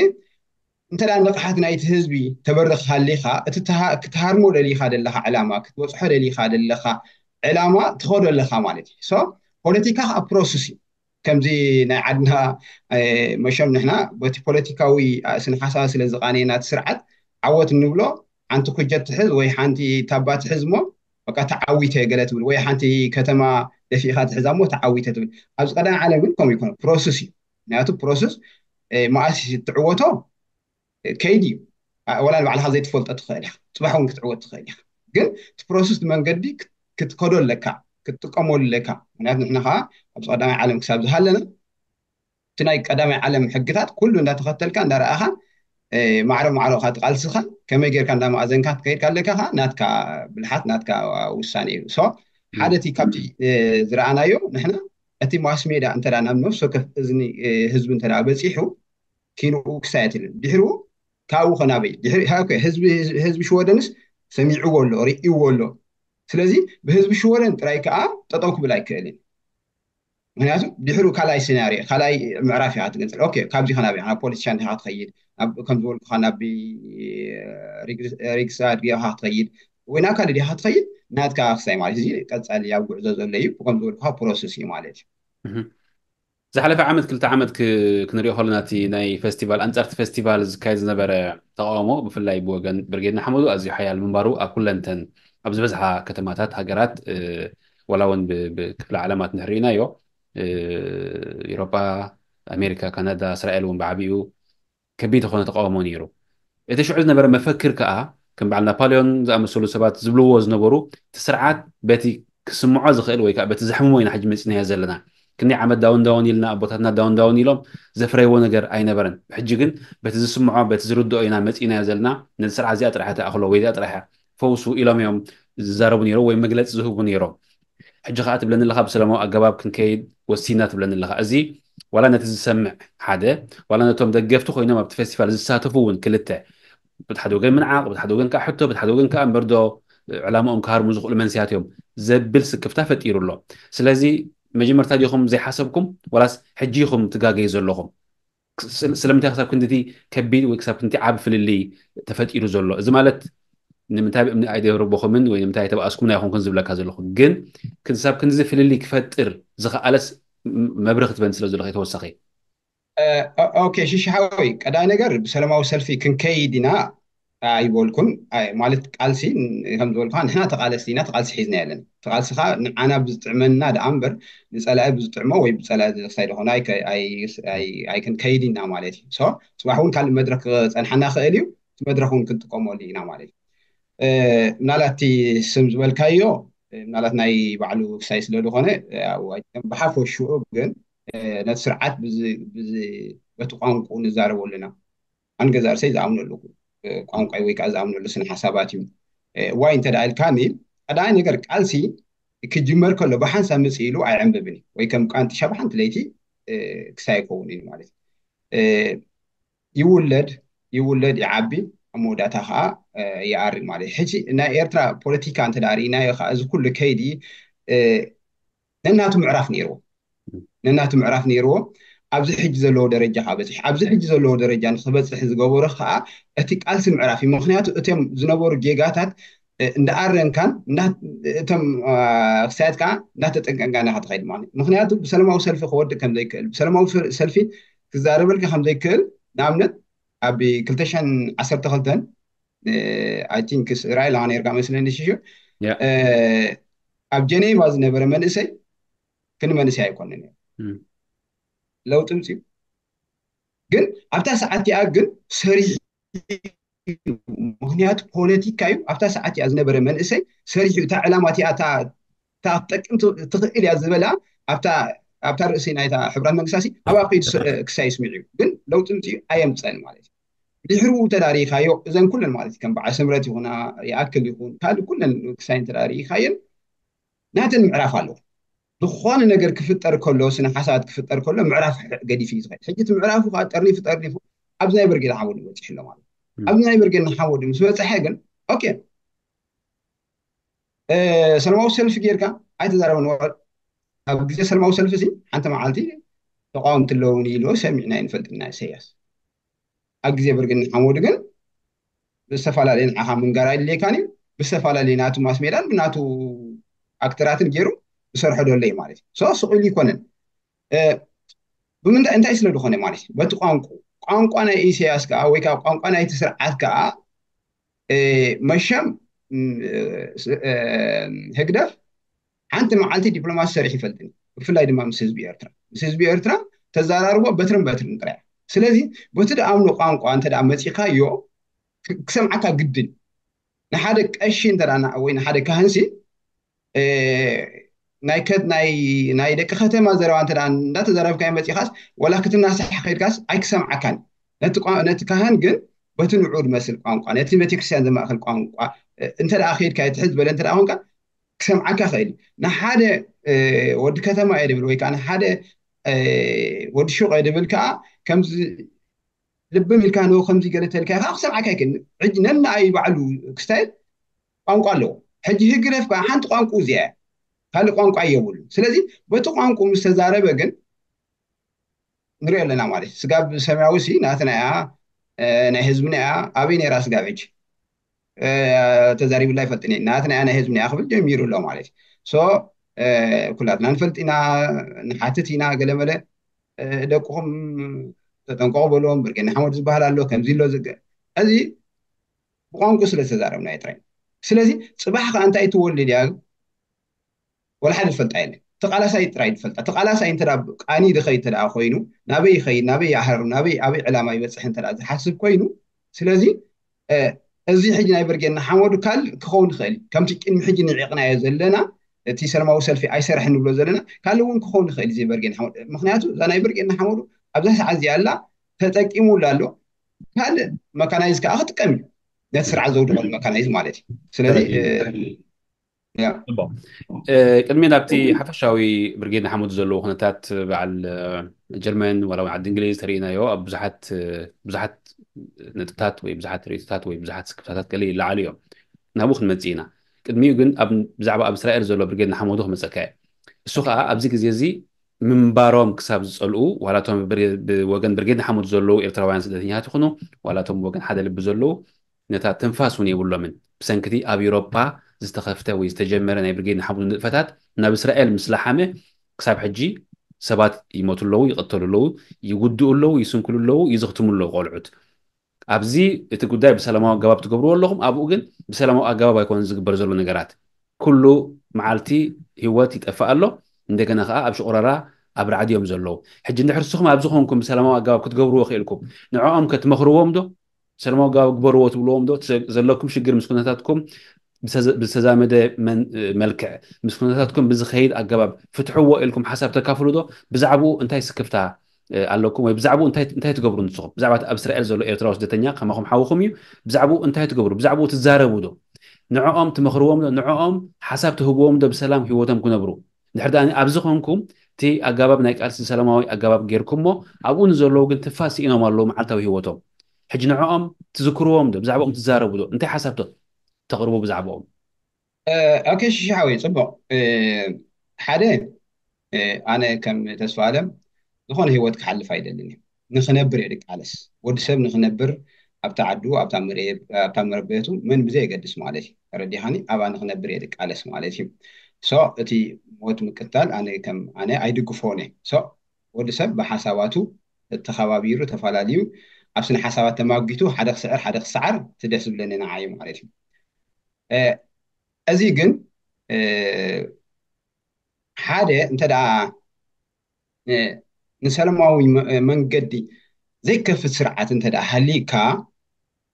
እንተ ንቕሓት ናይቲ ህዝቢ ተበርኽ ሃሊኻ እቲ ክትሃርሞ ደሊኻ ዘለኻ ዕላማ ክትበፅሖ ደሊኻ ዘለኻ ዕላማ ትኸዶ ኣለኻ ማለት እዩ። ፖለቲካ ከዓ ፕሮሰስ እዩ። ከምዚ ናይ ዓድና መሸም ንሕና በቲ ፖለቲካዊ ስነ ሓሳብ ስለ ዝቃነየና እቲ ስርዓት ዓወት እንብሎ ሓንቲ ኩጀት ትሕዝ ወይ ሓንቲ ታባ ትሕዝ እሞ በቃ ተዓዊተ ገለ ትብል ወይ ሓንቲ ከተማ ደፊእካ ትሕዛ እሞ ተዓዊተ ትብል። ኣብዚ ቀዳማይ ዓለም ግን ከምኡ ይኮነ ፕሮሰስ እዩ። ምክንያቱ ፕሮሰስ መኣስ ትዕወቶ ከይዲ እዩ። ወላ ንባዕልካ ዘይትፈልጦ ትኽእል ኢኻ፣ ፅባሕ እውን ክትዕወት ትኽእል ኢኻ። ግን እቲ ፕሮሰስ መንገዲ ክትከዶ ኣለካ፣ ክትጥቀመሉ ኣለካ። ምክንያቱ ንሕና ከዓ ኣብዚ ቀዳማይ ዓለም ክሳብ ዝሃለና እቲ ናይ ቀዳማይ ዓለም ሕግታት ኩሉ እንዳተኸተልካ እንዳረኣኻ ማዕረ ማዕረኻ ትቃልስኻ ከመይ ጌርካ እንዳማእዘንካ ትከይድካ ኣለካ ከዓ ናትካ ብልሓት ናትካ ውሳኔ እዩ። ሶ ሓደ እቲ ካብቲ ዝረኣናዮ ንሕና እቲ ማስ ሜድያ እንተ ናብ ነፍሲ ወከፍ እዝኒ ህዝቢ እንተ በፂሑ ኪንኡ ክሳየት ኢለን ድሕሪኡ ካብኡ ከናበይ ድሕሪ ህዝቢ ሽወደንስ ሰሚዕዎ ኣሎ ርእይዎ ኣሎ። ስለዚ ብህዝቢ ሽወደን ጥራይ ከዓ ጠጠው ክብል ኣይክእልን። ምክንያቱ ድሕሩ ካልኣይ ሴናርዮ ካልኣይ ምዕራፍ ኢኻ ትገንፅል። ካብዚ ከናበይ ናብ ፖለቲሻን ዲኻ ትኸይድ፣ ከም ዝበልኩኻ ናብ ሪግሳ ዲኻ ትኸይድ ወይ ናብ ካልእ ዲኻ ትኸይድ ናትካ ክሳይ ማለት እዚ ቀፃሊ ኣብ ጉዕዞ ዘሎ እዩ። ከም ዝበልኩኻ ፕሮሰስ እዩ ማለት እዩ። ዝሓለፈ ዓመት ክልተ ዓመት ክንሪኦ ከለና እቲ ናይ ፈስቲቫል ኣንፃርቲ ፈስቲቫል ዝካየድ ዝነበረ ተቃውሞ ብፍላይ ብወገን ብርጌድ ንሓመዱ ኣዝዩ ሓያል ምንባሩ ኣብ ኩለንተን ኣብ ዝበዝሓ ከተማታት ሃገራት ዋላ እውን ብክፍለ ዓለማት ንሕርኢናዮ ኤሮጳ ኣሜሪካ ካናዳ እስራኤል እውን ብዓቢኡ ከቢድ ዝኾነ ተቃውሞ ነይሩ። እቲ ሽዑ ዝነበረ መፈክር ከዓ ከም በዓል ናፖሊዮን ዝኣመሰሉ ሰባት ዝብልዎ ዝነበሩ እቲ ስርዓት በቲ ክስምዖ ዝኽእል ወይ ከዓ በቲ ዘሕምሞ ኢና ሕጂ መፂናዮ ዘለና። ክንደይ ዓመት ዳውን ዳውን ኢልና ኣቦታትና ዳውን ዳውን ኢሎም ዘፍረይዎ ነገር ኣይነበረን። ሕጂ ግን በቲ ዝስምዖ በቲ ዝርድኦ ኢና መፂናዮ ዘለና። ነዚ ስርዓት እዚኣ ጥራሕ ትኣኽሎ ወይ እዚኣ ጥራሕ ፈውሱ ኢሎም እዮም ዝዛረቡ ነይሮም ወይ መግለፂ ዝህቡ ነይሮም። ሕጂ ከዓ ትብለኒ ኣለካ ብሰላማዊ ኣገባብ ክንከይድ ወሲና ትብለኒ ኣለካ። እዚ ዋላ ነቲ ዝሰምዕ ሓደ ዋላ ነቶም ደገፍቲ ኮይኖም ኣብቲ ፌስቲቫል ዝሳተፉ እውን ክልተ ብቲ ሓደ ወገን ምንዓቕ ብቲ ሓደ ወገን ከዓ ሕቶ ብቲ ሓደ ወገን ከዓ እምበር ዶ ዕላማኦም ክሃርሙ ዝኽእሉ መንስያት እዮም ዘብል ስክፍታ ፈጢሩ ኣሎ። ስለዚ መጀመርታ ዲኹም ዘይሓሰብኩም ዋላስ ሕጂ ኢኹም ትጋገዩ ዘለኹም? ስለምንታይ ክሳብ ክንድቲ ከቢድ ወይ ክሳብ ክንድቲ ዓቢ ፍልልይ ተፈጢሩ ዘሎ? እዚ ማለት ንምንታይ ብእምኒ ኣይደረበኹምን ወይ ንምንታይ ኣይተባኣስኩምን ኣይኮንኩን ዝብለካ ዘለኹ፣ ግን ክሳብ ክንድዚ ፍልልይ ክፈጥር ዝኸኣለስ መብርህ ክትበኒ ስለ ዘለኹ ተወሳኺ። ኦኬ ሽሽሓወይ ቀዳይ ነገር ብሰላማዊ ሰልፊ ክንከይድ ኢና። ኣይበልኩን። ማለት ቃልሲ ከም ዝበልካ ንሕና ተቃለስቲ ኢና፣ ተቃልሲ ሒዝና የለን። ተቃልሲ ከዓ ንዓና ብዝጥዕመና ደኣ እምበር ንፀላኢ ብዝጥዕሞ ወይ ብፀላኢ ዝክሳይ ደኾነ ኣይክንከይድ ኢና ማለት እዩ። ሶ ፅባሕ እውን ካልእ መድረክ ክፀንሓና ክእል እዩ። እቲ መድረክ እውን ክንጥቀመሉ ኢና ማለት እዩ። ምናልባት እቲ ስም ዝበልካዮ ምናልባት ናይ ባዕሉ ክሳይ ስለ ዝኾነ ብሓፈሽኡ ግን ነቲ ስርዓት በቲ ቋንቁ ንዛረበሉ ኢና። ኣንገዛርሰይ ዝኣምነሉ ቋንቋይ ወይ ከዓ ዝኣምነሉ ስነ ሓሳባት እዩ። ዋይ እንተ ደኣ ኢልካኒ ቀዳማይ ነገር ቃልሲ ክጅመር ከሎ ብሓንሳብ ምፅ ኢሉ ኣይዕንብብን እዩ ወይ ከም ቃንጥሻ ብሓንቲ ለይቲ ክሳይ ይኸውን እዩ ማለት እዩ። ይውለድ ይውለድ ይዓቢ ኣብ መወዳእታ ከዓ ይኣርግ ማለት እዩ። ሕጂ ናይ ኤርትራ ፖለቲካ እንተ ርኢናዮ ከዓ እዚ ኩሉ ከይዲ ነናቱ ምዕራፍ ነይርዎ ነናቱ ምዕራፍ ነይርዎ። ኣብዚ ሕጂ ዘለዎ ደረጃ ከዓ በፂሑ ኣብዚ ሕጂ ዘለዎ ደረጃ ንክበፅሕ ዝገበሮ ከዓ እቲ ቃልሲ ምዕራፍ እዩ። ምክንያቱ እቶም ዝነበሩ ጌጋታት እንዳኣረምካን እቶም ክሳያት ከዓ እንዳተጠንቀንካ ኢና ክትኸይድ ማለት እዩ። ምክንያቱ ብሰለማዊ ሰልፊ ክወድእ ከም ዘይክእል ብሰለማዊ ሰልፊ ክዛረበልካ ከም ዘይክእል ንኣብነት ኣብ ክልተ ሽሕን ዓሰርተ ክልተን I think ራእይ ኣለካ ነርካ መስለኒ ሽሹ ኣብ ጀኔቫ ዝነበረ መንእሰይ ክንመንእሰይ ኣይኮነን ለውጢ ምፅኡ ግን ኣብታ ሰዓት እቲኣ ግን ሰሪሑ ምክንያቱ ፖለቲካ እዩ ኣብታ ሰዓት እቲኣ ዝነበረ መንእሰይ ሰሪሑ እታ ዕላማ እቲኣ እታ ክትጠቅም ትኽእል እያ ዝበላ ኣብታ ርእሲ ናይታ ሕብራት መንግስታት ኣብ ኣብ ከይዱ ክሳይ ይስሚዕ እዩ ግን ለውጢ ምፅኡ ኣየምፀን ማለት እዩ ድሕሩ ተዳሪካዮ እዘን ኩለን ማለት ከም በዓል ስምረት ይኹና ይኣክል ይኹን ካልእ ኩለን ክሳይ ተዳሪካየን ናተን ምዕራፍ ኣለዎ ዝኾነ ነገር ክፍጠር ከሎ ስነ ሓሳባት ክፍጠር ከሎ ምዕራፍ ገዲፍ እዩ ዝኸድ ሕጂ እቲ ምዕራፉ ከዓ ጠርኒፉ ጠርኒፉ ኣብዚ ናይ ብርጌድ ሓመዱ በፂሑ ኣሎ ማለት ኣብዚ ናይ ብርጌድ ሓመዱ ምስ በፅሐ ግን ኦኬ ሰለማዊ ሰልፊ ጌርካ ኣይተዛረበን ኣብ ግዜ ሰለማዊ ሰልፊ ሲ ሓንቲ መዓልቲ ተቃወምቲ ኣለውን ኢሉ ሰሚዕና ይንፈልጥና ኢሳያስ ኣብ ግዜ ብርጌድ ሓመዱ ግን ብዝተፈላለየ ንዓኻ ምንጋር ኣይድልየካን እዩ ብዝተፈላለየ ናቱ ማስሜዳን ብናቱ ኣክተራትን ገይሩ ዝሰርሖ ደሎ እዩ ማለት እዩ ስቕ ኢሉ ይኮነን ብምንታይ እንታይ ስለ ዝኾነ ማለት እዩ በቲ ቋንቁ ቋንቋ ናይ ኢሳያስ ከዓ ወይ ከዓ ቋንቋ ናይቲ ስርዓት ከዓ መሸም ህግደፍ ሓንቲ መዓልቲ ዲፕሎማሲ ሰሪሕ ይፈልጥን ብፍላይ ድማ ምስ ህዝቢ ኤርትራ ምስ ህዝቢ ኤርትራ ተዛራርቦ በትርን በትርን ጥራያ ስለዚ በቲ ደኣምኖ ቋንቋ እንተ መፂኻዮ ክሰምዓካ ግድን ንሓደ ቀሺ እንተ ወይ ንሓደ ካህንሲ ናይ ደቂ ከተማ ዘረባ እንተ እንዳተዘረብካዮ መፂኻስ ወላ ክትናሳሕ ከይድካስ ኣይክሰምዓካን ነቲ ካህን ግን በቲ ንዑ ዝመስል ቋንቋ ነቲ ቤተክርስትያን ዘማእክል ቋንቋ እንተ ከይድካ ትሕዝ ዝበለ እንተ ኮንካ ክሰምዓካ ክእል ንሓደ ወዲ ከተማ እየ ድብል ወይ ከዓ ንሓደ ወዲ ሹቕ እየ ድብል ከዓ ከምዚ ልብም ኢልካ ን ከምዚ ገለ ተልካ ከዓ ክሰምዓካ ይክእል ሕጂ ነናይ ባዕሉ ክስታይል ቋንቋ ኣለዎ ሕጂ ህግደፍ ከዓ ሓንቲ ቋንቋ እዚኣ ካልእ ቋንቋ የብሉ ስለዚ በቲ ቋንቋ ምስ ተዛረበ ግን ንሪኦ ኣለና ማለት ስጋብ ሰማያዊ ሲ ናትና እያ ናይ ህዝብና እያ ኣበይ ነራ ስጋብ ሕጂ ተዛሪብላ ይፈልጥን ናትና እያ ናይ ህዝብና እያ ክብል ጀሚሩ ኣሎ ማለት ሶ ኩላትና ንፈልጥ ኢና ንሓትት ኢና ገለመለ ደቅኹም ተጠንቀቑ በልዎም ብርጌድ ንሓመዱ ዝበሃል ኣሎ ከምዚ ኣሎ እዚ ብቋንቁ ስለ ዝተዛረብና እዩ ጥራይ ስለዚ ፅባሕ ከዓ እንታይ ትወልድ እያ ወላ ሓደ ዝፈልጣ የለን ተቃላሳይ ጥራይ ዝፈልጣ ተቃላሳይ እንተ ቃኒ ዝኸይድ እንተ ኮይኑ ናበይ ይኸይድ ናበይ ይሃርም ናበይ ኣበይ ዕላማ ይበፅሕ እንተ ዝሓስብ ኮይኑ ስለዚ እዚ ሕጂ ናይ ብርጌድ ንሓመዱ ካልእ ክኸውን ይኽእል እዩ ከምቲ ቅድሚ ሕጂ ንዒቕናዮ ዘለና እቲ ሰለማዊ ሰልፊ ኣይሰርሕ ንብሎ ዘለና ካልእ እውን ክኸውን ይኽእል እዚ ብርጌድ ንሓመዱ ምክንያቱ እዛ ናይ ብርጌድ ንሓመዱ ኣብዛ ሰዓት እዚኣ ኣላ ተጠቂሙላ ኣሎ ካልእ መካናይዝ ከዓ ክጥቀም እዩ ነቲ ስርዓት ዘውድቐሉ መካናይዝ ማለት እዩ ስለዚ ቅድሚ ናብቲ ሓፈሻዊ ብርጌድ ንሓመዱ ዘለዎ ኩነታት በዓል ጀርመን ዋላ ዓዲ እንግሊዝ ተርእናዮ ኣብ ብዙሓት ብዙሓት ነጥብታት ወይ ብዙሓት ርእቶታት ወይ ብዙሓት ስክፍታታት ገለ ይለዓሉ እዮም ናብኡ ክንመፅእ ኢና ቅድሚኡ ግን ብዛዕባ ኣብ እስራኤል ዘሎ ብርጌድ ንሓመዱ ክመፀካ እየ እሱ ከዓ ኣብዚ ግዜ እዚ ምንባሮም ክሳብ ዝፀልኡ ዋላቶም ብወገን ብርጌድ ንሓመዱ ዘለዉ ኤርትራውያን ስደተኛታት ይኹኑ ዋላቶም ብወገን ሓደ ልቢ ዘለዉ ነታ ትንፋስ እውን የብሎምን ብሰንክቲ ኣብ ኤሮፓ ዝተኸፍተ ወይ ዝተጀመረ ናይ ብርጌድ ንሓመዱ ንጥፈታት ናብ እስራኤል ምስ ለሓመ ክሳብ ሕጂ ሰባት ይሞቱ ኣለዉ ይቐተሉ ኣለዉ ይጉድኡ ኣለዉ ይስንክሉ ኣለዉ ይዝኽትሙ ኣለዉ ቆልዑት ኣብዚ እቲ ጉዳይ ብሰላማዊ ኣገባብ ትገብርዎ ኣለኹም፣ ኣብኡ ግን ብሰላማዊ ኣገባብ ኣይኮነን ዝግበር ዘሎ ነገራት። ኩሉ መዓልቲ ህይወት ይጠፍእ ኣሎ፣ እንደገና ከዓ ኣብ ሽቑረራ ኣብ ራዕዲ እዮም ዘለዉ። ሕጂ እንድሕር ንስኹም ኣብዚ ኮንኩም ብሰላማዊ ኣገባብ ክትገብርዎ ክኢልኩም ንዕኦም ከትመኽርዎም ዶ? ብሰላማዊ ኣገባብ ግበርዎ ትብልዎም ዶ? ዘለኩም ሽግር ምስ ኩነታትኩም ብዝተዛመደ መልክዕ ምስ ኩነታትኩም ብዝኸይድ ኣገባብ ፍትሕዎ ኢልኩም ሓሳብ ተካፍሉ ዶ? ብዛዕባኡ እንታይ ስክፍታ ኣለኩም ወይ ብዛዕባኡ እንታይ ትገብሩ ንስኹም? ብዛዕባ ኣብ እስራኤል ዘሎ ኤርትራዊ ስደተኛ ከማኹም ሓውኹም እዩ። ብዛዕባኡ እንታይ ትገብሩ? ብዛዕባኡ ትዛረቡ ዶ? ንዕኦም ትመኽርዎም ዶ? ንዕኦም ሓሳብ ትህብዎም ዶ ብሰላም ህይወቶም ክነብሩ? ድሕር ዳኣ ኣብዚ ኮንኩም እቲ ኣገባብ ናይ ቃልሲ ሰላማዊ ኣገባብ ጌርኩሞ ኣብኡ ንዘለዉ ግን ትፋስ ስኢኖም ኣለዉ መዓልታዊ ህይወቶም። ሕጂ ንዕኦም ትዝክርዎም ዶ? ብዛዕባኦም ትዛረቡ ዶ? እንታይ ሓሳብ ተቕርቡ ብዛዕባኦም? ኦኬ ሽሻሓወይ ፅቡቕ። ሓደ ኣነ ከም ተስፋ ኣለም ዝኾነ ህይወት ክሓልፍ ኣይደልን እየ። ንክነብር እየ ድቃለስ። ወዲ ሰብ ንክነብር ኣብታ ዓዱ ኣብታ መረበቱ መን ብዘይ የገድስ ማለት እዩ። ተረዲኻኒ? ኣብኣ ንክነብር እየ ድቃለስ ማለት እዩ። ሶ እቲ ሞት ምቅታል ኣነ ከም ኣነ ኣይድግፎን እየ። ሶ ወዲ ሰብ ብሓሳባቱ ተኸባቢሩ ተፈላለዩ ኣብ ስነ ሓሳባት ተማጊቱ ሓደ ክስዕር ሓደ ክሰዓር እቲ ደስ ዝብለኒ ንዓይ ማለት እዩ። እዚ ግን ሓደ እንተ ደኣ ንሰላማዊ መንገዲ ዘይከፍት ስርዓት እንተ ደኣ ሃሊካ፣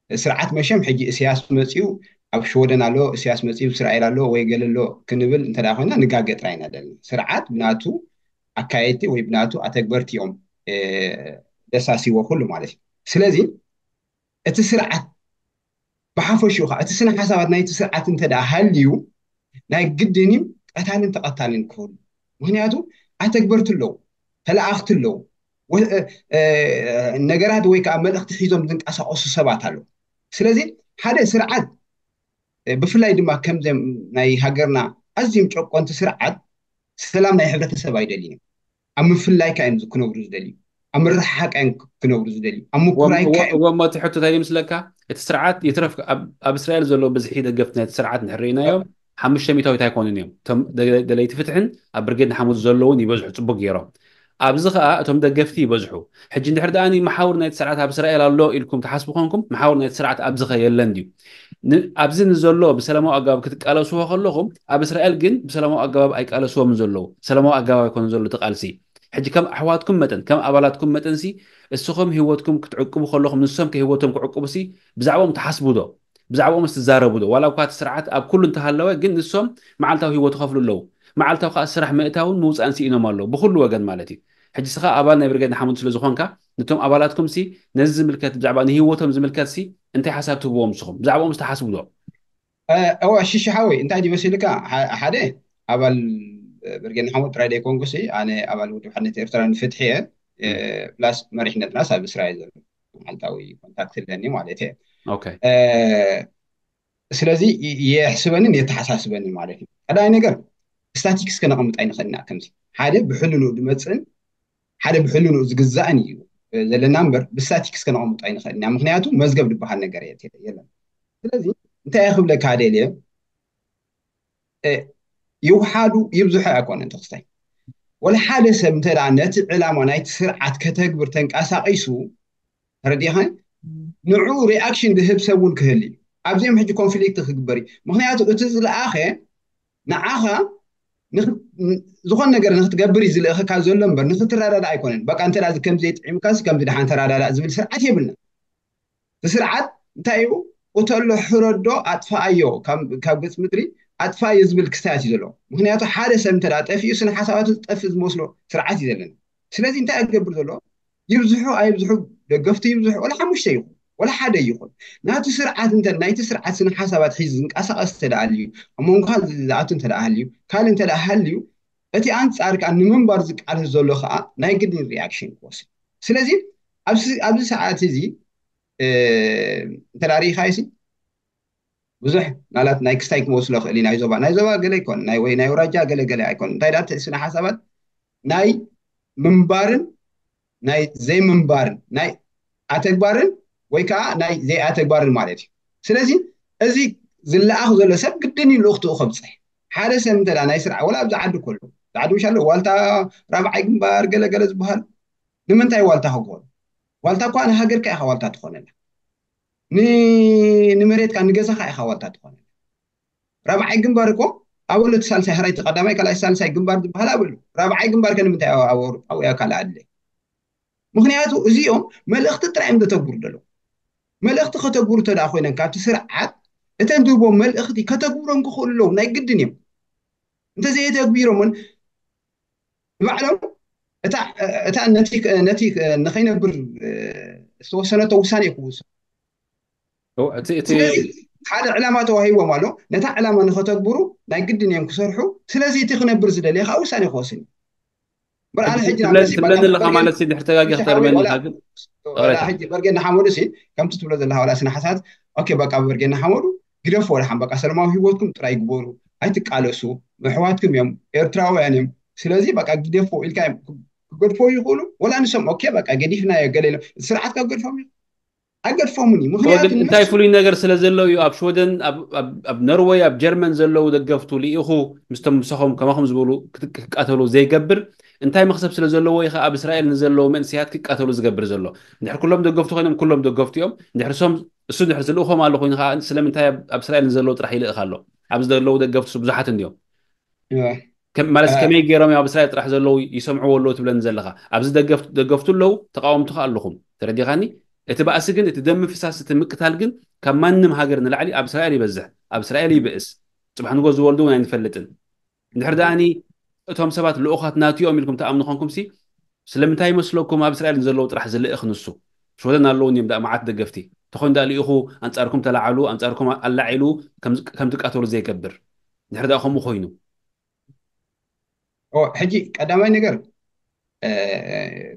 ስርዓት መሸም ሕጂ እስያስ መፅዩ ኣብ ሽወደን ኣሎ፣ እስያስ መፅዩ እስራኤል ኣሎ ወይ ገለ ኣሎ ክንብል እንተ ደኣ ኮይና ንጋገ ጥራይ ኢና ዘለና። ስርዓት ብናቱ ኣካየድቲ ወይ ብናቱ ኣተግበርቲ እዮም ደሳሲዎ ኩሉ ማለት እዩ። ስለዚ እቲ ስርዓት ብሓፈሽኡ ከዓ እቲ ስነ ሓሳባት ናይቲ ስርዓት እንተ ደኣ ሃልዩ ናይ ግድን እዩ ቀታልን ተቐታልን ክህሉ። ምክንያቱ ኣተግበርቲ ኣለዉ፣ ተለኣኽቲ ኣለዉ፣ ነገራት ወይ ከዓ መልእኽቲ ሒዞም ዝንቀሳቀሱ ሰባት ኣለዉ። ስለዚ ሓደ ስርዓት ብፍላይ ድማ ከምዚም ናይ ሃገርና ኣዝዮም ጨቆንቲ ስርዓት ሰላም ናይ ሕብረተሰብ ኣይደልዩን እዮም። ኣብ ምፍላይካ እዮም ክነብሩ ዝደልዩ፣ ኣብ ምርሕሓቅ እዮም ክነብሩ ዝደልዩ፣ ኣብ ምኩራይካ እዮም። ወሞ እቲ ሕቶ እንታይ ምስለካ? እቲ ስርዓት ይትረፍ ኣብ እስራኤል ዘሎ ብዝሒ ደገፍቲ ናይቲ ስርዓት ንሕርኢናዮም ሓሙሽተ ሚታዊት ኣይኮኑን እዮም። እቶም ደለይቲ ፍትሕን ኣብ ብርጌድ ንሓሙት ዘለውን ይበዝሑ ፅቡቅ ገይሮም። ኣብዚ ከዓ እቶም ደገፍቲ ይበዝሑ። ሕጂ እንድሕር ደኣ መሓውር ናይቲ ስርዓት ኣብ እስራኤል ኣሎ ኢልኩም ትሓስቡ ኮንኩም መሓውር ናይቲ ስርዓት ኣብዚ ኸ የለን ድዩ? ኣብዚ ንዘሎ ብሰላማዊ ኣገባብ ክትቃለስዎ ከለኹም ኣብ እስራኤል ግን ብሰላማዊ ኣገባብ ኣይቃለስዎም ዘለዉ። ሰላማዊ ኣገባብ ኣይኮነ ዘሎ እቲ ቃልሲ። ሕጂ ከም ኣሕዋትኩም መጠን ከም ኣባላትኩም መጠን ሲ እስኹም ህይወትኩም ክትዕቅቡ ከለኹም ንሶም ከ ህይወቶም ክዕቅቡ ሲ ብዛዕባኦም ትሓስቡ ዶ? ብዛዕባኦም ትዛረቡ ዶ? ዋላ እኳ እቲ ስርዓት ኣብ ኩሉ እንተሃለወ ግን ንሶም መዓልታዊ ህይወት ይኸፍሉ ኣለዉ። መዓልታዊ ከዓ ስራሕ ምእታውን ምውፃእን ስኢኖም ኣለዉ ብኩሉ ወገን ማለት እዩ። ሕጂ ስኻ ኣባል ናይ ብርጌድ ንሓመዱ ስለ ዝኾንካ ነቶም ኣባላትኩም ሲ ነዚ ዝምልከት ብዛዕባ ንህይወቶም ዝምልከት ሲ እንታይ ሓሳብ ትህብዎም ንስኹም? ብዛዕባኦም ዝተሓስቡ ዶ? እወ ሽሽሓወይ እንታይ ድዩ መሲልካ ሓደ ኣባል ብርጌድ ንሓመዱ ጥራይ ደይኮንኩ ሲ ኣነ ኣባል ውድብ ሓድነት ኤርትራ ንፍትሒ እየ። ፕላስ መሪሕነትናስ ኣብ እስራኤል ዘሎ መዓልታዊ ኮንታክት ኣለኒ ማለት እየ። ስለዚ የሕስበንን የተሓሳስበንን ማለት እዩ። ቀዳማይ ነገር ስታቲክስ ከነቐምጥ ኣይንኽእልና ከምዚ ሓደ ብሕልንኡ ዝመፅእን ሓደ ብሕልንኡ ዝግዛእን እዩ ዘለና እምበር ብስታቲክስ ከነቐምጦ ኣይንኽእልና። ምክንያቱ መዝገብ ዝበሃል ነገር የለን። ስለዚ እንታይ ክብለካ ደልየ ይውሓዱ ይብዝሑ ኣይኮነን ተክስታይ ወላ ሓደ ሰብ እንተ ነቲ ዕላማ ናይቲ ስርዓት ከተግብር ተንቀሳቒሱ ተረዲኻ ንዑ ሪኣክሽን ዝህብ ሰብ እውን ክህል እዩ። ኣብዚኦም ሕጂ ኮንፍሊክት ክግበር እዩ። ምክንያቱ እቲ ዝለኣኸ ንዓኻ ዝኾን ነገር ንክትገብር እዩ ዝልእኸካ ዘሎ እምበር ንክትረዳዳ ኣይኮነን። በቃ እንተ ከምዚ ዘይጥዒምካ ከምዚ ድሓን ተረዳዳ ዝብል ስርዓት የብልና። እቲ ስርዓት እንታይ እዩ? ቁተሎ ሕረዶ ኣጥፋኣዮ ካብ ገፅ ምድሪ ኣጥፋኣዮ ዝብል ክስታያት እዩ ዘለዎ። ምክንያቱ ሓደ ሰብ እንተ ጠፊኡ ስነ ሓሳባቱ ዝጠፍእ ዝመስሎ ስርዓት እዩ ዘለና። ስለዚ እንታይ ክገብር ዘሎ ይብዝሑ ኣይብዝሑ ደገፍቲ ይብዝሑ ወላ ሓሙሽተ ይኹን ወላ ሓደ ይኹን ናቲ ስርዓት እንተ ናይቲ ስርዓት ስነ ሓሳባት ሒዙ ዝንቀሳቀስ ተደኣልዩ ኣብ መንጎ ዝኣቱ እንተ ሃልዩ ካልእ እንተ ሃልዩ እቲ ኣንፃር ከዓ ንምንባር ዝቃለስ ዘሎ ከዓ ናይ ግድን ሪኣክሽን ክወስድ። ስለዚ ኣብዚ ሰዓት እዚ እንተ ርኢኻይሲ ብዙሕ ናላት ናይ ክስታይ ክመስሎ ክእል ናይ ዞባ ናይ ዞባ ገለ ኣይኮን ናይ ወይ ናይ ውራጃ ገለ ገለ ኣይኮን እንታይ ዳት ስነ ሓሳባት ናይ ምንባርን ናይ ዘይምንባርን ናይ ኣተግባርን ወይ ከዓ ናይ ዘይኣተግባርን ማለት እዩ። ስለዚ እዚ ዝለኣኽ ዘሎ ሰብ ግድን እዩ ልእኽትኡ ከብፅሕ ሓደ ሰብ እንተ ናይ ስራሕ ወላ ኣብዚ ዓዲ ከሎ ዓዲ ምሻሎ ዋልታ ራብዓይ ግንባር ገለገለ ዝበሃል ንምንታይ ዋልታ ክኾኑ ዋልታ እኳ ንሃገርካ ኢኻ ዋልታ ትኾነላ። ንመሬትካ ንገዛኻ ኢኻ ዋልታ ትኾነ። ራብዓይ ግንባር እኮ ኣበሎ እቲ ሳልሳይ፣ ሕራይ እቲ ቀዳማይ ካልኣይ ሳልሳይ ግንባር ዝበሃል ኣበሎ። ራብዓይ ግንባር ከ ንምንታይ ኣብ ኣውሮጳ ወይ ኣብ ካልእ ኣድለ? ምክንያቱ እዚኦም መልእኽቲ ጥራይ እዮም ዘተግብሩ ዘለዉ። መልእኽቲ ከተግብሩ እንተ ደኣ ኮይኖም ካብቲ ስርዓት እተን ዝህቦም መልእኽቲ ከተግብሮም ክኽእሉ ኣለዎም፣ ናይ ግድን እዮም። እንተዘየተግቢሮምን ንባዕሎም እታ እታ ነቲ ነቲ ንኸይነብር ዝተወሰነቶ ውሳኔ ክውሰን እቲ እቲ ስለዚ ሓደ ዕላማ ተዋሂቦም ኣሎ። ነታ ዕላማ ንኸተግብሩ ናይ ግድን እዮም ክሰርሑ። ስለዚ እቲ ክነብር ዝደልየ ከዓ ውሳኔ ክወስን እዩ። እምበር ኣነ ሕጂ ናብ ትብለ- መሲ ትብለኒ ኣለኻ ማለት ሲ ድሕሪ ተጋጊ ክተርመኒ ኢኻ ግን ወላ ሕጂ በርጌ እናሓመዱ ሲ ከምቲ ትብሎ ዘለካ ዋላ ስነ ሓሳት ኦኬ በቃ በርጌ እናሓመዱ ግደፎ ወላ ሓን በቃ ሰላማዊ ህይወትኩም ጥራይ ግበሩ፣ ኣይትቃለሱ፣ ኣሕዋትኩም እዮም፣ ኤርትራውያን እዮም። ስለዚ በቃ ግደፎ ኢልካ እዮም ክገድፎ ይኽእሉ። ወላ ንሶም ኦኬ በቃ ገዲፍናዮ ገለ ኢሎም ስርዓት ካብ ገድፎም እዩ ኣይገድፎምን እዩ። ምክንያቱ ወግን እንታይ ፍሉይ ነገር ስለ ዘሎ እዩ ኣብ ሽወደን ኣብ- ኣብ- ኣብ ኖርወይ ኣብ ጀርመን ዘለዉ ደገፍቱ ልኢኹ ምስቶም ምሳኹም ከማኹም ዝበሉ ክት- ክቃተሉ ዘይገብር እንታይ መክሰብ ስለ ዘለዎ ኢኻ ኣብ እስራኤል ንዘለዉ መንእሰያት ክቃተሉ ዝገብር ዘሎ? እንድሕር ኩሎም ደገፍቱ ኮይኖም ኩሎም ደገፍቱ እዮም። እንድሕር ሶም እሱ እንድሕር ዝልእኾም ኣሎ ኮይኑ ከዓ ስለምንታይ ኣብ- ኣብ እስራኤል ንዘለዉ ጥራሕ ይልእኽ ኣሎ? ኣብዚ ዘለዉ ደገፍቱ ብዙሓት እንዲዮም። ከም- ማለት ከመይ ገይሮም ኣብ እስራኤል ጥራሕ ዘለዉ ይሰምዕዎ ኣለዉ ትብለኒ ዘለኻ? ኣብዚ ደገፍ- ደገፍቱ ኣለዉ፣ ተቃወምቱ ከዓ ኣለኹም። ተረዲኻኒ? እቲ ባእሲ ግን እቲ ደም ምፍሳስ እቲ ምቅታል ግን ካብ ማንም ሃገር ንላዕሊ ኣብ እስራኤል ይበዝሕ፣ ኣብ እስራኤል ይብእስ። ፅባሕ ንጎ ዝወልዱ እውን ኣይንፈልጥን። እንድሕር ደኣኒ እቶም ሰባት ልኡኻት ናትዮም ኢልኩም ተኣምኑ ኮንኩም ሲ ስለምንታይ ይመስለኩም ኣብ እስራኤል ንዘለዉ ጥራሕ ዝልእኽ ንሱ? ሽወደን ኣለዉ እዮም ደኣ መዓት ደገፍቲ። ተኾይኑ ደኣ ልኢኹ ኣንጻርኩም ተላዓሉ ኣንጻርኩም ኣላዒሉ ከም- ከም ትቃተሉ ዘይገብር እንድሕር ደኣ ከምኡ ኮይኑ ኦ፣ ሕጂ ቀዳማይ ነገር እ፣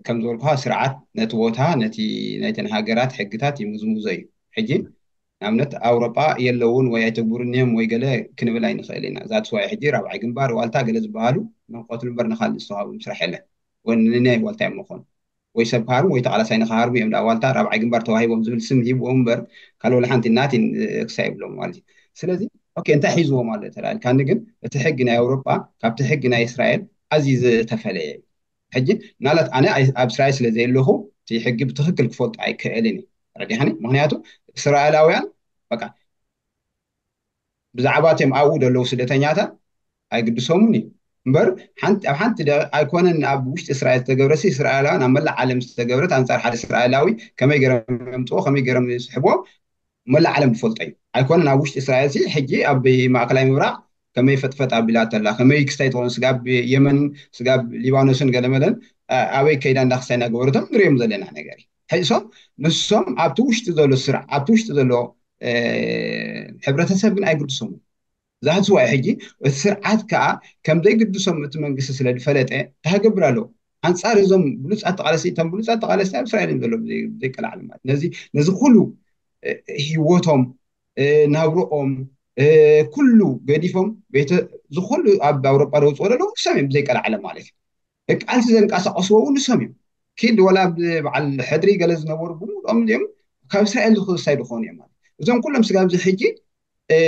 ከም ዝበልኩኻ ስርዓት ነቲ ቦታ ነቲ ናይተን ሃገራት ሕግታት ይምዝምዞ እዩ። ሕጂ ንኣብነት ኣውሮጳ የለውን ወይ ኣይተግብሩን እዮም ወይ ገለ ክንብል ኣይንኽእል ኢና። ዛትስ ዋይ ሕጂ ራብዓይ ግንባር ዋልታ ገለ ዝበሃሉ ንክቐትሉ እምበር ንካልእ ዝተዋህቦም ስራሕ የለን። ወይ ንናይ ዋልታ እዮም መኾኑ ወይ ሰብ ክሃርሙ ወይ ተቓላሳይ ንክሃርሙ እዮም ደኣ ዋልታ ራብዓይ ግንባር ተዋሂቦም ዝብል ስም ሂብዎም እምበር ካልእ ወላ ሓንቲ ናቲን ክሳይ ይብሎም ማለት እዩ። ስለዚ ኦኬ እንታይ ሒዝዎም ኣሎ ተላልካኒ ግን እቲ ሕጊ ናይ ኣውሮጳ ካብቲ ሕጊ ናይ እስራኤል ኣዝዩ ዝተፈለየ እዩ። ሕጂ ምናልባት ኣነ ኣይ- ኣብ እስራኤል ስለ ዘየለኹ እቲ ሕጊ ብትክክል ክፈልጦ ኣይክእልን እዩ። ረዲኻኒ? ምክንያቱ እስራኤላውያን በቃ ብዛዕባ እቶም ኣብኡ ዘለዉ ስደተኛታት ኣይግድሶምን እዩ እምበር ሓንቲ ኣብ ሓንቲ ደ- ኣይኮነን ኣብ ውሽጢ እስራኤል ዝተገብረ ሲ እስራኤላውያን ኣብ መላእ ዓለም ዝተገብረት ኣንጻር ሓደ እስራኤላዊ ከመይ ገይሮም የምፅዎ ከመይ ገይሮም ይስሕብዎ መላእ ዓለም ዝፈልጦ እዩ። ኣይኮነን ኣብ ውሽጢ እስራኤል ሲ ሕጂ ኣብ ማእከላይ ምብራቕ ከመይ ፈጥፈጥ ኣቢላ ተላ ከመይ ክስታይ ትኾን ስጋብ የመንን ስጋብ ሊባኖስን ገለመለን ኣ- ኣበይ ከይዳ እንዳክስታይ እናገበረቶም ንሪኦም ዘለና ነገር እዩ። ሕጂ ሶም ንሶም ኣብቲ ውሽጢ ዘሎ ስራሕ ኣብቲ ውሽጢ ዘሎ እ፣ ሕብረተሰብ ግን ኣይግድሶምን። ዛህቲ ዋይ ሕጂ እቲ ስርዓት ከዓ ከም ዘይግድሶም እቲ መንግስቲ ስለ ዝፈለጠ እንታይ ክገብር ኣለዎ? ኣንጻር እዞም ብሉፃት ተቃለስቲ እቶም ብሉፃት ተቃለስቲ ኣብ እስራኤል እዮም ዘለዉ ብዘይ- ብዘይቀላዕሊ ማለት ነዚ ነዚ ኩሉ እ፣ ህይወቶም እ፣ ናብርኦም እ፣ ኩሉ ገዲፎም ቤተ ዝኩሉ ኣብ ኣውሮጳ ደውፅኦ ዘለዉ ንሶም እዮም ብዘይቀላዕለ ማለት እዩ። ቃልሲ ዘንቀሳቀስዎ እውን ንሶም እዮም። ኪድ ወላ በዓል ሕድሪ ገለ ዝነበሩ ብምልኦም እዚኦም ካብ እስራኤል ዝክስታይ ዝኾኑ እዮም ማለት እዞም ኩሎም ስጋብ እዚ ሕጂ እ፣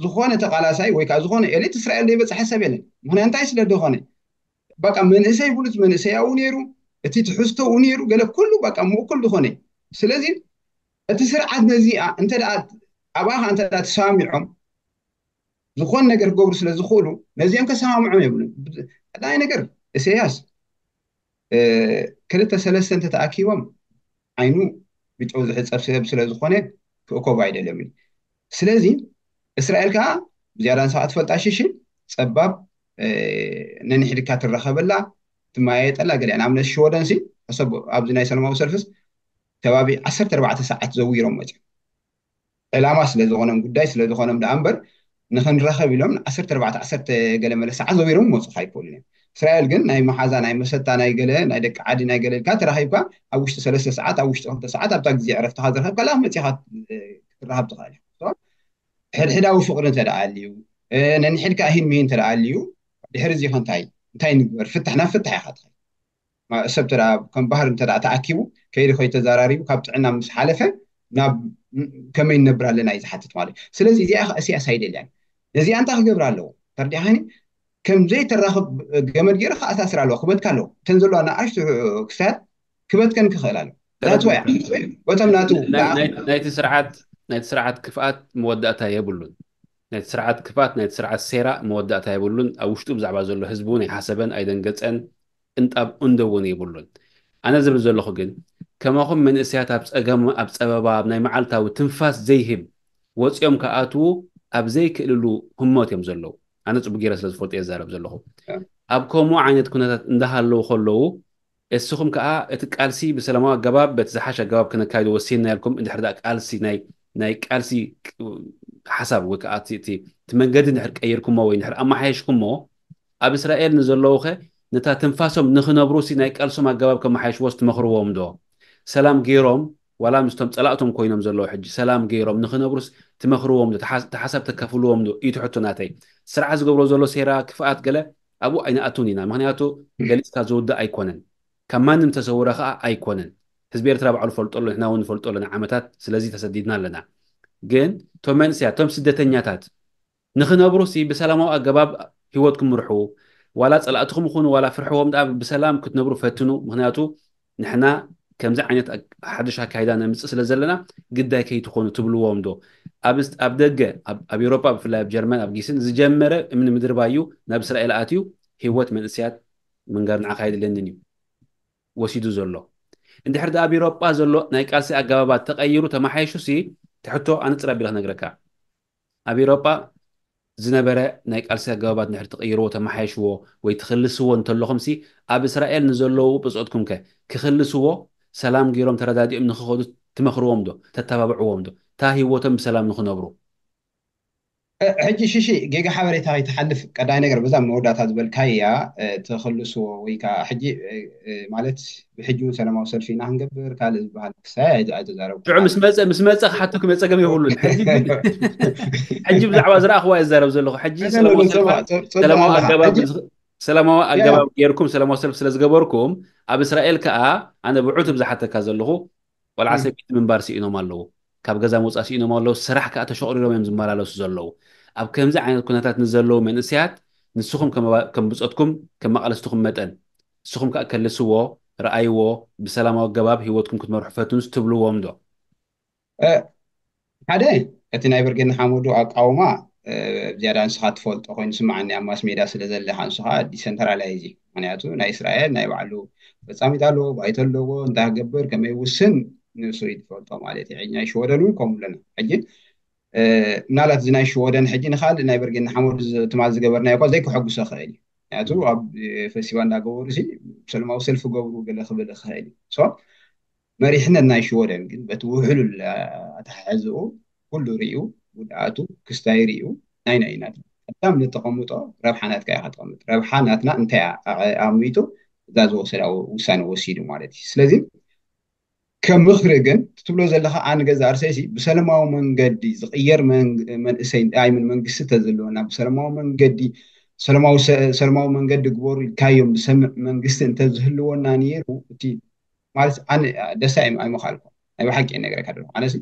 ዝኾነ ተቃላሳይ ወይ ከዓ ዝኾነ ኤሊት እስራኤል ዘይበፅሐ ሰብ የለን። ምክንያት እንታይ ስለ ዝኾነ በቃ መንእሰይ ብሉፅ መንእሰይ ኣብኡ ነይሩ፣ እቲ ትሕዝቶ ኣብኡ ነይሩ፣ ገለ ኩሉ በቃ ምእኩል ዝኾነ እዩ። ስለዚ እቲ ስርዓት ነዚኣ እንተ ደኣ ኣብኣ ከዓ እንተ ደኣ ተሰማሚዖም ዝኾን ነገር ክገብሩ ስለ ዝኽእሉ ነዚኦም ከሰማምዖም የብሉን። ቀዳማይ ነገር ኢሳያስ እ፣ ክልተ ሰለስተ እንተተኣኪቦም ዓይኑ ብጨው ዝሕፀብ ሰብ ስለ ዝኾነ ክእከቡ ኣይደልዮም እዩ። ስለዚ እስራኤል ከዓ ብዝያዳ ንስኻ ትፈልጣ ሽሽ ጸባብ ነንሕድካ ትራኸበላ ትመያየጠላ ገሊኣ ንኣብነት ሽወደን ሲ ሕሰብ ኣብዚ ናይ ሰላማዊ ሰልፍስ ከባቢ ዓሰርተ ኣርባዕተ ሰዓት ዘዊሮም መፅኦም ዕላማ ስለ ዝኾኖም ጉዳይ ስለ ዝኾኖም ደኣ እምበር ንኽንራኸብ ኢሎም ዓሰርተ ኣርባዕተ ዓሰርተ ገለ መለ ሰዓት ዘዊሮም ክመፁኻ ኣይክእሉን እዮም። እስራኤል ግን ናይ መሓዛ ናይ መሰታ ናይ ገለ ናይ ደቂ ዓዲ ናይ ገለ ኢልካ ተራኺብካ ኣብ ውሽጢ ሰለስተ ሰዓት ኣብ ውሽጢ ክልተ ሰዓት ኣብታ ግዜ ዕረፍትኻ ዝረኸብካ ላ መፂኻ ክትራኸብ ትኽእል ኢኻ። ሕድሕዳዊ ፍቕሪ እንተ ደኣ ኣልዩ ነንሕድካ እሂን ምሂን እንተ ደኣ ኣልዩ ድሕሪ እዚ ኸ እንታይ እንታይ ንግበር ፍታሕ ናብ ፍታሕ ኢኻ ትኸይድ። ሰብ ተዳ ከም ባህር እንተ ተኣኪቡ ከይዲ ከይተዘራሪቡ ካብ ጥዕና ምስ ሓለፈ ናብ ከመይ ንነብር ኣለና እዩ ዝሓትት ማለት እዩ። ስለዚ እዚኣ ኢሳያስ ኣይደልያን። ነዚኣ እንታይ ክገብር ኣለዎ ተርዲኻኒ ከም ዘይተራኽብ ገመድ ገይሩ ከኣሳስር ኣለዎ ክበትካ ኣለዎ። እተን ዘለዋ ንኣሽቱ ክሳድ ክበትከን ክኽእል ኣለዎ። ዛትወያ በቶም ናቱ ናይቲ ስርዓት ናይቲ ስርዓት ክፍኣት መወዳእታ የብሉን። ናይቲ ስርዓት ክፍኣት፣ ናይቲ ስርዓት ሴራ መወዳእታ የብሉን። ኣብ ውሽጡ ብዛዕባ ዘሎ ህዝቢ እውን ኣይሓሰበን፣ ኣይደንገጸን፣ እንጣብ እንዶ እውን የብሉን። ኣነ ዝብል ዘለኹ ግን፣ ከማኹም መንእሰያት ኣብ ጸገም፣ ኣብ ጸበባ፣ ኣብ ናይ መዓልታዊ ትንፋስ ዘይህብ ወጺኦም ክኣትዉ ኣብ ዘይክእልሉ ህሞት እዮም ዘለዉ። ኣነ ጽቡቅ ገይረ ስለ ዝፈልጦ እየ ዝዛረብ ዘለኹ። ኣብ ከምኡ ዓይነት ኩነታት እንዳሃለዉ ከለዉ፣ እስኹም ከኣ እቲ ቃልሲ ብሰላማዊ ኣገባብ፣ በቲ ዝሓሸ ኣገባብ ክነካይዶ ወሲንና ኢልኩም፣ እንድሕር ደኣ ቃልሲ ናይ፣ ናይ ቃልሲ ሓሳብ ወይ ከኣ እቲ፣ እቲ፣ እቲ መንገዲ እንድሕር ቀይርኩሞ ወይ እንድሕር ኣመሓየሽኩሞ፣ ኣብ እስራኤል ንዘለዉኸ ነታ ትንፋሶም ንኽነብሩሲ ናይ ቃልሶም ኣገባብ ከመሓየሽዎስ ትመኽርዎም ዶ? ሰላም ገይሮም፣ ዋላ ምስቶም ጸላእቶም ኮይኖም ዘለዉ ሕጂ ሰላም ገይሮም ንኽነብሩስ ትመኽርዎም ዶ? ተሓ-፣ ተሓሳብ ተካፍልዎም ዶ? እዩ እቲ ሕቶ ናተይ። ስርዓት ዝገብሮ ዘሎ ሴራ፣ ክፍኣት ገለ ኣብኡ ኣይንኣቱን ኢና። ምኽንያቱ ገሊጽካ ዝውዳእ ኣይኮነን። ካብ ማንም ተሰውረ ከኣ ኣይኮነን። ህዝቢ ኤርትራ ባዕሉ ፈልጦ ኣሎ፣ ንሕና እውን ንፈልጦ ኣለና ዓመታት፣ ስለዚ ተሰዲድና ኣለና። ግን እቶም መንእሰያት፣ እቶም ስደተኛታት ንኽነብሩሲ ብሰላማዊ ኣገባብ ህይወትኩም ምርሑ። ዋላ ጸላእትኹም ይኹኑ፣ ዋላ ፍርሕዎም ደኣ ብሰላም ክትነብሩ ፈትኑ። ምኽንያቱ ንሕና ከምዚ ዓይነት ኣግ-፣ ሓድሽ ኣካይዳ ነምጽእ ስለ ዘለና ግዳይ ከይትኾኑ ትብልዎም ዶ? ኣብ ስ-፣ ኣብ ደገ፣ ኣብ፣ ኣብ ኤውሮጳ ብፍላይ ኣብ ጀርመን፣ ኣብ ጊስን ዝጀመረ እምኒ ምድርባዩ ናብ እስራኤል ኣትዩ ህይወት መንእሰያት ምንጋር ንዓኻ ኣይድለንን እዩ ወሲዱ ዘሎ። እንድሕር ደኣ ኣብ ኤውሮጳ ዘሎ ናይ ቃልሲ ኣገባባት ተቐይሩ ተመሓይሹሲ፣ እቲ ሕቶ ኣነጽር ኣቢለ ክነግረካ። ኣብ ኤውሮጳ ዝነበረ ናይ ቃልሲ ኣገባባት እንድሕር ትቕይርዎ፣ ተመሓይሽዎ ወይ ትኽልስዎ እንተለኹምሲ፣ ኣብ እስራኤል ንዘለዉ ብጾትኩም ከ ክኽልስዎ፣ ሰላም ገይሮም ተረዳዲኦም ንኽኸዱ ትመኽርዎም ዶ? ተተባብዕዎም ዶ? እታ ህይወቶም ብሰላም ንኽነብሩ። እ፣ ሕጂ ሽሺ ጌጋ ሓበሬታ ከይትሓልፍ ቀዳይ ነገር በዛ መወዳእታ ዝበልካያ፣ እ፣ ትኽልስዎ ወይ ከዓ ሕጂ፣ እ፣ እ፣ ማለት ብሕጂ እውን ሰላማዊ ሰልፊ ኢና ክንገብር ካልእ ዝበሃል ክሳይ ኣይተ-፣ ኣይተዛረብኩ። ሽዑ ምስ መጸ፣ ምስ መጸ ክሓተኩም እየ፣ ጸገም የብሉን። ሕጂ ግን፣ ሕጂ ብዛዕባ ዝረኣኽዋ እየ ዝዛረብ ዘለኹ። ሕጂ ሰላማዊ ሰልፊ፣ ሰላማዊ ኣገባብ፣ ሰላማዊ ኣገባብ ጌርኩም ሰላማዊ ሰልፊ ስለ ዝገበርኩም፣ ኣብ እስራኤል ከኣ ኣነ ብዑቱብ ዝሓተካ ዘለኹ፣ ቆልዓ ሰበይቲ ምንባር ስኢኖም ኣለዉ። ካብ ገዛ ምውጻእ ስኢኖም ኣለዉ። ስራሕ ከኣ ተሸቑሪሮም እዮም ዝመላለሱ ዘለዉ። ኣብ ከምዚ ዓይነት ኩነታት ንዘለዉ መንእሰያት ንስኹም ከም ኣባ-፣ ከም ብጾትኩም፣ ከም ኣቓልስትኹም መጠን፣ ንስኹም ከኣ ከልስዎ፣ ረኣይዎ፣ ብሰላማዊ ኣገባብ ህይወትኩም ክትመርሑ ፈትኑስ ትብልዎም ዶ? እ፣ ሓደ፣ እቲ ናይ ብርጌድ ንሓመዱ ኣቃውማ፣ እ፣ ዝያዳ ንስኻ ትፈልጦ ኮይኑ ስምዓኒ፣ ኣብ ማስ ሜዳ ስለ ዘለኻ፣ ንሱ ኸኣ ዲሰንትራላይዝ እዩ። ምኽንያቱ ናይ እስራኤል ናይ ባዕሉ ፈጻሚት ኣለዎ፣ ባይቶ ኣለዎ፣ እንታይ ክገብር፣ ከመይ ይውስን፣ ንሱ እዩ ዝፈልጦ ማለት እዩ። ሕጂ ናይ ሽወደን እውን ከምኡ ኣለና። ሕጂ፣ እ፣ ምናልባት እዚ ናይ ሽወደን ሕጂ ንኻልእ ናይ ብርጌድ ንሓመዱ ዝ-፣ ትማል ዝገበርናዮ እኳ ዘይክሐጉሶ ይኽእል እዩ። ምኽንያቱ ኣብ፣ እ፣ ፈስቲቫል እንዳገበሩ ሲ ሰላማዊ ሰልፊ ገብሩ ገለ ክብል ይኽእል እዩ። ሶ፣ መሪሕነት ናይ ሽወደን ግን በቲ ውሕሉል ኣተሓሕዝኡ ኩሉ ሪኡ፣ ጉድኣቱ ክስታይ ሪኡ፣ ናይ ናይ ናትና ቀዳም ንተቐምጦ ረብሓ ናትካ ኢኻ ተቐምጥ። ረብሓ ናትና እንታይ እያ ኣ-፣ ኣቐሚጡ እዛ ዝወሰዳ ውሳነ ወሲዱ ማለት እዩ። ስለዚ ከም ምኽሪ ግን እቲ ትብሎ ዘለኻ ኣነ ገዛ ርእሰይሲ ብሰላማዊ መንገዲ ዝቕየር መን-፣ መንእሰይ ኣይ ምን መንግስቲ ተዝህልወና ብሰላማዊ መንገዲ ሰላማዊ ሰ-፣ ሰላማዊ መንገዲ ግበሩ ኢልካዮም ዝሰምዕ መንግስቲ እንተዝህልወና ነይሩ እቲ ማለት ኣነ ደስታ ኣይም-፣ ኣይምኻልኩ ናይ ብሓቂ እየ ነግረካ ደለኹ። ኣነሲ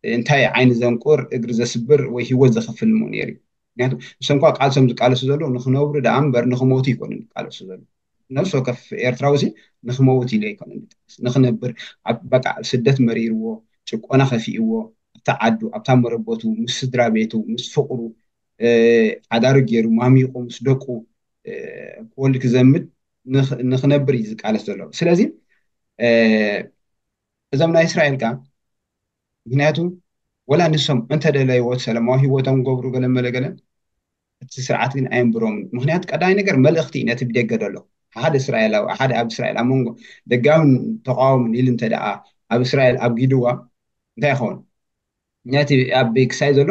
እንታይ ዓይኒ ዘንቁር እግሪ ዘስብር ወይ ህይወት ዘኽፍል ምኡ ነይሩ እዩ። ምክንያቱ ንሶም እኳ ቃልሶም ዝቃለሱ ዘለዉ ንኽነብሩ ደኣ እምበር ንኽሞቱ ኣይኮኑን ዝቃለሱ ዘለዉ። ነፍሲ ወከፍ ኤርትራዊ ሲ ንኽመውት ኢሉ ኣይኮነን ዝቃለስ። ንኽነብር ኣብ በቃ ስደት መሪርዎ፣ ጭቆና ከፊእዎ፣ ኣብታ ዓዱ፣ ኣብታ መረበቱ፣ ምስ ስድራ ቤቱ፣ ምስ ፍቕሩ፣ እ፣ ሓዳሩ ገይሩ፣ ማሚቑ፣ ምስ ደቁ፣ እ፣ ክወልድ ክዘምድ ንኽ-፣ ንኽነብር እዩ ዝቃለስ ዘሎ። ስለዚ፣ እ፣ እዞም ናይ እስራኤል ከኣ ምክንያቱ ወላ ንሶም እንተደለይዎ ሰላማዊ ህይወቶም ገብሩ ገለ መለ ገለ እቲ ስርዓት ግን ኣየንብሮምን። ምክንያቱ ቀዳማይ ነገር መልእኽቲ እዩ ነቲ ብደገ ዘሎ ሓደ እስራኤላዊ፣ ሓደ ኣብ እስራኤል ኣብ መንጎ ደጋምን ተቃዋምን ኢሉ እንተ ደኣ ኣብ እስራኤል ኣብ ጊድዋ እንታይ ይኸውን? ነቲ ኣብ ክሳይ ዘሎ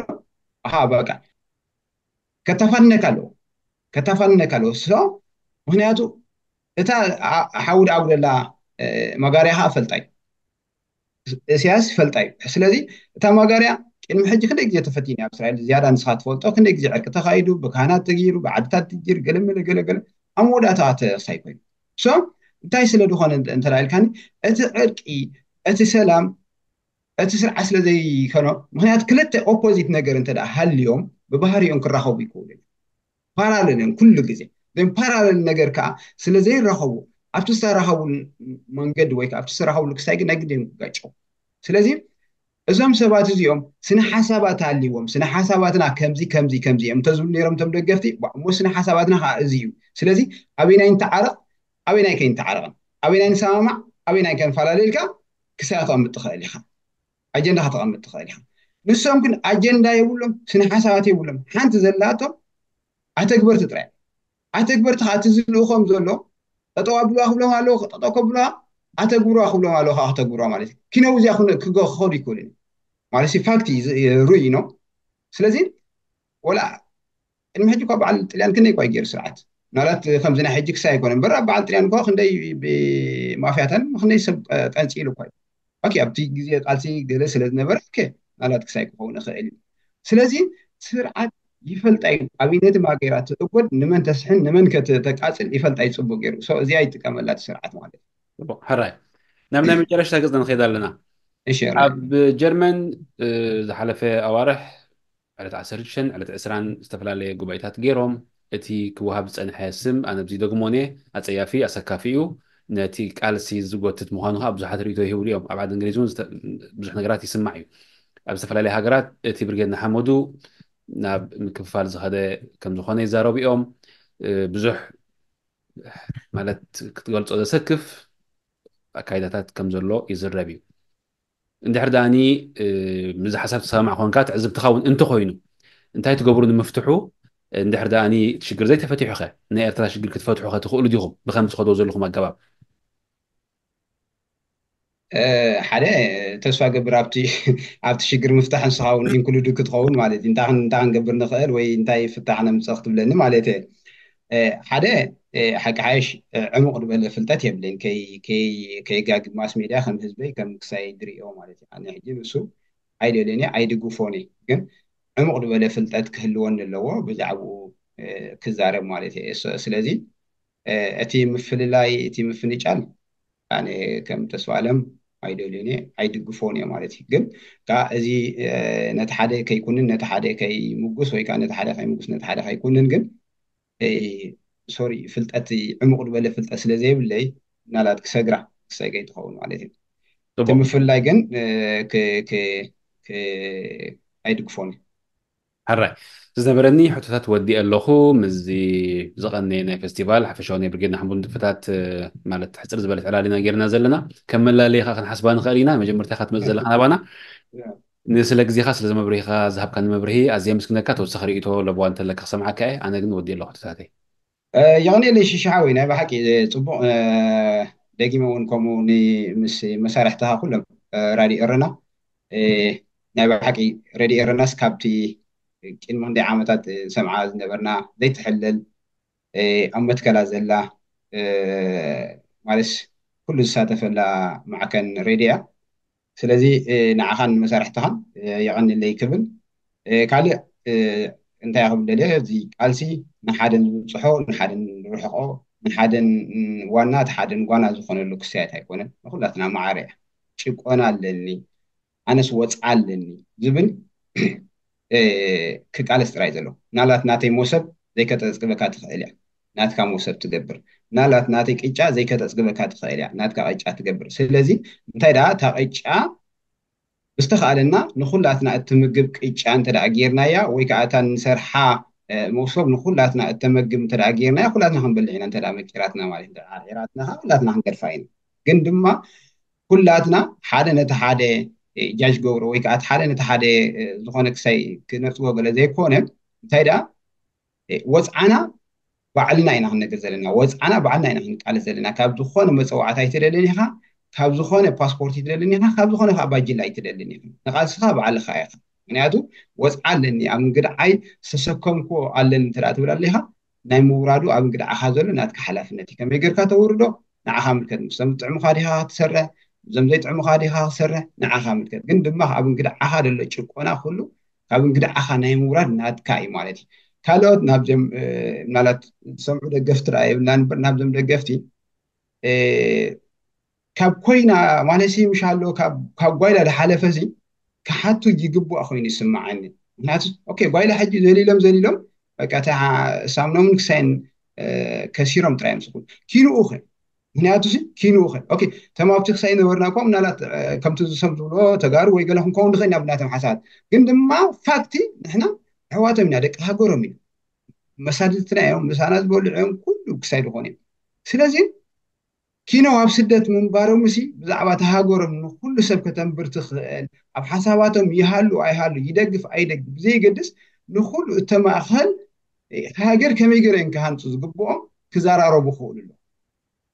ኣሃ በቃ ከተፋንነካ ኣለዎ፣ ከተፋንነካ ኣለዎ። ሶ ምክንያቱ እታ ኣ-፣ ሓዊ ደኣ ኣጉደላ፣ እ፣ መጋርያ ከዓ ፈልጣ እዩ። እስያስ ፈልጣ እዩ። ስለዚ እታ መጋርያ ቅድሚ ሕጂ ክንደይ ግዜ ተፈቲኑ ኣብ እስራኤል ዝያዳ ንስኻ ትፈልጦ፣ ክንደይ ግዜ ዕርቂ ተኻይዱ፣ ብካህናት ተገይሩ፣ ብዓድታት ተገይሩ፣ ገለ መለ ገለ ገለ ኣብ መወዳእታ ተሳይ ኮይኑ። ሶ እንታይ ስለ ዝኾነ እንተ ኢልካኒ፣ እቲ ዕርቂ፣ እቲ ሰላም፣ እቲ ስርዓት ስለ ዘይከኖ፣ ምክንያቱ ክልተ ኦፖዚት ነገር እንተ ደኣ ሃልዮም ብባህሪኦም ክራኸቡ ይክእሉ እዮም። ፓራለል እዮም ኩሉ ግዜ። ግን ፓራለል ነገር ከዓ ስለ ዘይራኸቡ ኣብቲ ዝተራኸቡሉ መንገዲ ወይ ከዓ ኣብቲ ዝተራኸቡሉ ክስታይ ግን ናይ ግድን ክጋጨው። ስለዚ እዞም ሰባት እዚኦም ስነ ሓሳባት ኣልዎም፣ ስነ ሓሳባትና ከምዚ ከምዚ ከምዚ እዮም እንተዝብሉ ነይሮም እቶም ደገፍቲ፣ እሞ ስነ ሓሳባትና ከዓ እዚ እዩ። ስለዚ ኣበይናይ ንተዓረቕ፣ ኣበይናይ ከይንተዓረቕን፣ ኣበይናይ ንሰማማዕ፣ ኣበይናይ ከንፈላለ ኢልካ ክሳይ ክተቐምጥ ትኽእል ኢኻ። ኣጀንዳ ከተቐምጥ ትኽእል ኢኻ። ንሶም ግን ኣጀንዳ የብሎም፣ ስነ ሓሳባት የብሎም። ሓንቲ ዘላቶም ኣተግበርቲ ጥራይ። ኣተግበርቲ ከዓ እቲ ዝልእኾም ዘሎ ጠጠው ኣብልዋ ክብሎም ኣለዎ፣ ጠጠው ከብልዋ፣ ኣተግብርዋ ክብሎም ኣለዎ፣ ከዓ ከተግብርዋ ማለት እዩ። ኪነው እዚኣ ክነ- ክገ- ክኸዱ ይክእሉ እዮም ማለት እዩ። ፋክት እዩ፣ ዝ- ርኡይ ነው። ስለዚ ወላ ቅድሚ ሕጂ እኳ በዓል ጥልያን ክንደይ እኳ እዩ ገይሩ ስርዓት፣ ምናልባት ከምዚ ናይ ሕጂ ክሳይ ኣይኮነ እምበር፣ ኣብ በዓል ጥልያን እኳ ክንደይ ብማፍያታን ክንደይ ሰብ ጠንፂሉ እኳ እዩ። ኦኬ፣ ኣብቲ ግዜ ቃልሲ ገለ ስለ ዝነበረ፣ ኦኬ፣ ምናልባት ክሳይ ክኸውን ይኽእል እዩ። ስለዚ ስርዓት ይፈልጣ እዩ፣ ኣብነቲ ማገራ ትእጎድ፣ ንመን ተስሕን ንመን ከተቃፅል ይፈልጣ እዩ። ፅቡቅ ገይሩ። ሶ እዚኣ ይጥቀመላ እቲ ስርዓት ማለት እዩ። ሕራይ፣ ናብ ናይ መጨረሽታ ገጽ ንኸይድ ኣለና። እሺ፣ ኣብ ጀርመን ዝሓለፈ ኣዋርሕ ዕለት ዓሰርተ ሽዱሽተን ዕለት ዕስራን ዝተፈላለየ ጉባኤታት ገይሮም። እቲ ክወሃብ ዝጸንሐ ስም፣ ኣነ ኣብዚ ደግሞኔ፣ ኣጸያፊ፣ ኣሰካፊ እዩ። ነቲ ቃልሲ ዝጎትት ምዃኑ ከዓ ብዙሓት ርእይቶ ይህብሉ እዮም። ኣብ ዓዲ እንግሊዝ እውን ዝተ- ብዙሕ ነገራት ይስማዕ እዩ። ኣብ ዝተፈላለየ ሃገራት እቲ ብርጌድ ንሓመዱ ናብ ምክፍፋል ዝኸደ ከም ዝኾነ ይዛረቡ እዮም። ብዙሕ ማለት ክትገልጾ ዘሰክፍ ኣካይዳታት ከም ዘሎ ይዝረብ እዩ። እንድሕር ደኣኒ ምዚ ሓሳብ ተሰማማዕ ኮንካ፣ ትዕዝብትኻ እውን እንተኾይኑ፣ እንታይ ትገብሩ ንምፍትሑ? እንድሕር ደኣኒ እቲ ሽግር ዘይተፈቲሑ ኸ፣ ናይ ኤርትራ ሽግር ክትፈትሑ ኸ ትኽእሉ ዲኹም ብኸም ትኸዶ ዘለኹም ኣገባብ? ሓደ ተስፋ ገብር ኣብቲ ኣብቲ ሽግር ምፍታሕ ንስኻ እውን ኢንክሉድ ክትኸውን ማለት እዩ። እንታይ ክን- እንታይ ክንገብር ንኽእል ወይ እንታይ ፍታሕ ነምፅእ ክትብለኒ ማለት እየ። ሓደ ሓቂ ሓይሽ ዕሙቕ ዝበለ ፍልጠት የብለይን። ከይ- ከይ- ከይጋግብ ማስ ሜድያ ከም ህዝበይ ከም ክሳይ ድርእዮ ማለት እዩ። ኣነ ሕጂ ንሱ ኣይደልዮን እየ ኣይድግፎን እየ፣ ግን ዕሙቕ ዝበለ ፍልጠት ክህልወኒ ኣለዎ ብዛዕባኡ ክዛረብ ማለት እየ። ስለዚ እቲ ምፍልላይ እቲ ምፍንጫል ኣነ ከም ተስፋ ኣለም ኣይደልዮን እየ ኣይድግፎን እየ ማለት እዩ። ግን ከዓ እዚ ነቲ ሓደ ከይኩንን ነቲ ሓደ ከይምጉስ ወይ ከዓ ነቲ ሓደ ከይምጉስ ነቲ ሓደ ከይኩንን ግን ሶሪ ፍልጠት ዕሙቕ ዝበለ ፍልጠት ስለ ዘይብለይ ምናልባት ክሰግራ ክሰገይ ትኸውን ማለት እዩ። እቲ ምፍልላይ ግን ኣይድግፎን እዩ። ሕራይ፣ ዝነበረኒ ሕቶታት ወዲእ ኣለኹ። ምስዚ ዝቐነየ ናይ ፌስቲቫል ሓፈሻዊ ናይ ብርጌድ ንሓመዱ ንጥፈታት ማለት ሕፅር ዝበለት ዕላል ኢና ጌርና ዘለና። ከም መላለይ ከዓ ክንሓስባ ንኽእል ኢና። መጀመርታ ኢኻ ትመፅእ ዘለኻ ናባና። ንስለ ግዜኻ ስለ መብርሂኻ ዝሃብካኒ መብርሂ ኣዝየ ምስግነካ። ተወሳኺ ርእይቶ ለበዋ እንተለካ ክሰምዓካ እየ። ኣነ ግን ወዲእ ኣለኹ ሕቶታተይ። የቐንየለይ ሽሻሓወይ፣ ናይ ብሓቂ ፅቡቕ። ደጊመ እውን ከምኡ ምስ መሳርሕትኻ ኩሎም ራድዮ ኤረና ናይ ብሓቂ ሬድዮ ኤረናስ ካብቲ ቅድሚ ክንደይ ዓመታት ሰምዓ ዝነበርና ዘይትሕለል ኣብ መትከላ ዘላ ማለት ኩሉ ዝሳተፈላ ማዕከን ሬድዮ እያ። ስለዚ ንዓኻን መሳርሕትኻን የቐንለይ ክብል። ካልእ እንታይ ክብል ደልየ፣ እዚ ቃልሲ ንሓደ ንብፅሖ ንሓደ ንርሕቆ ንሓደ ዋና እቲ ሓደ ንጓና ዝኾነሉ ክስያት ኣይኮነን። ንኩላትና ማዕረ እያ። ጭቆና ኣለኒ፣ ኣነስ ወፅዓ ኣለኒ ዝብል ክቃለስ ጥራይ ዘሎ። ምናልባት ናተይ ሞሰብ ዘይከተፅግበካ ትኽእል እያ፣ ናትካ ሞሰብ ትገብር። ምናልባት ናተይ ቅጫ ዘይከተፅግበካ ትኽእል እያ፣ ናትካ ቅጫ ትገብር። ስለዚ እንታይ ደኣ እታ ቅጫ ብዝተኻእለና ንኹላትና እትምግብ ቅጫ እንተ ደኣ ጌርናያ ወይ ከዓ እታ ንሰርሓ መሶብ ንኹላትና እተመግብ እንተ ደኣ ጌርናያ ኩላትና ክንበልዕ ኢና። እንተ ደኣ መቂራትና ማለት እንተ ደኣ ዓርዒራትና ከዓ ኩላትና ክንገድፋ ኢና። ግን ድማ ኩላትና ሓደ ነቲ ሓደ ጃጅ ገብሮ ወይ ከዓ ሓደ ነቲ ሓደ ዝኾነ ክሳይ ክነፅጎ ገለ ዘይኮነ እንታይ ደኣ ወፅዓና ባዕልና ኢና ክንነግር ዘለና፣ ወፅዓና ባዕልና ኢና ክንቃለስ ዘለና። ካብ ዝኾነ መፀዋዕታ ኣይትደልን ኢኻ፣ ካብ ዝኾነ ፓስፖርት ኣይትደልን ኢኻ፣ ካብ ዝኾነ ከዓ ባጅላ ኣይትደልን ኢኻ። ንቃልስኻ ባዕልኻ ኢኻ። ምክንያቱ ወፅዓ ኣለኒ ኣብ እንግድዓይ ዝተሰከምኩዎ ኣለኒ እንተ ትብል ኣለኻ ናይ ምውራዱ ኣብ እንግድዓኻ ዘሎ ናትካ ሓላፍነት እዩ። ከመይ ጌርካ ተውርዶ ንዓኻ ምልከት። ምስቶም ዝጥዕሙኻ ዲኻ ክትሰርሕ፣ እዞም ዘይጥዕሙኻ ዲኻ ክትሰርሕ ንዓኻ ምልከት። ግን ድማ ኣብ እንግድዓኻ ዘሎ ጭቆና ኩሉ ካብ እንግድዓኻ ናይ ምውራድ ናትካ እዩ ማለት እዩ። ካልኦት ናብዞም ምናልባት ዝሰምዑ ደገፍቲ ዳ የብልና ንበር ናብዞም ደገፍቲ ካብ ኮይና ማለት ምሽ ኣሎ ካብ ጓይላ ዝሓለፈ ሲ ክሓቱ ይግባእ ኮይኑ ይስምዓኒ። ምክንያቱ ኦኬ ጓይላ ሕጂ ዘሊሎም ዘሊሎም በቃ እታ ሳምኖምን ክሳይን ከሲሮም ጥራይ ምስኩ ኪንኡ ኸ ምክንያቱ ሲ ኪንኡ ኸ ኦኬ፣ ተማብቲ ክሳይ ነበርና እኮ ምናልባት ከምቲ ዝሰም ዝብሎ ተጋሩ ወይ ገለ ክንከውን ንኽእል ኢና ብናቶም ሓሳባት። ግን ድማ ፋክቲ ንሕና ኣሕዋቶም ኢና፣ ደቂ ሃገሮም ኢና፣ መሳድድትና እዮም፣ ምሳና ዝበልዑ እዮም፣ ኩሉ ክሳይ ዝኾኑ እዮም። ስለዚ ኪኖ ኣብ ስደት ምንባሮም ሲ ብዛዕባ ተሃገሮም ንኩሉ ሰብ ከተንብር ትኽእል፣ ኣብ ሓሳባቶም ይሃሉ ኣይሃሉ፣ ይደግፍ ኣይደግፍ ብዘይገድስ፣ ንኩሉ እተማእኸል ሃገር ከመይ ገይሮም ክሃንፁ ዝግብኦም ክዘራረቡ ክኽእሉ ኣለዎም።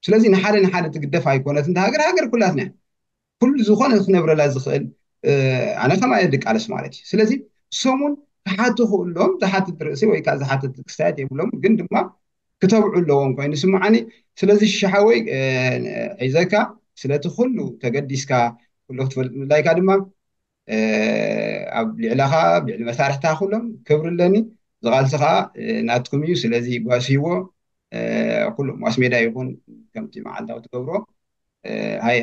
ስለዚ ንሓደ ንሓደ ትግደፍ ኣይኮነትን ሃገር፣ ሃገር ኩላትና ኩሉ ዝኾነ ክነብረላ ዝኽእል ኣነ ከማየ ድቃለስ ማለት እዩ። ስለዚ ሰሙን ክሓቱ ክእሎም ዝሓትት ርእሲ ወይ ከዓ ዝሓትት ክስታያት የብሎም፣ ግን ድማ ክተብዑ ኣለዎም ኮይኑ ስምዓኒ። ስለዚ ሽሓወይ ሒዘካ ስለቲ ኩሉ ተገዲስካ ኩሉ ክትፈልጥ ምድላይካ ድማ ኣብ ልዕላኻ ልዕሊ መሳርሕታ ኩሎም ክብሪ ኣለኒ። ዝቓልሲ ከዓ ናትኩም እዩ። ስለዚ ጓስይዎ ኩሉ ማስ ሜዳ ይኹን ከምቲ መዓልታዊ ትገብሮ ሃየ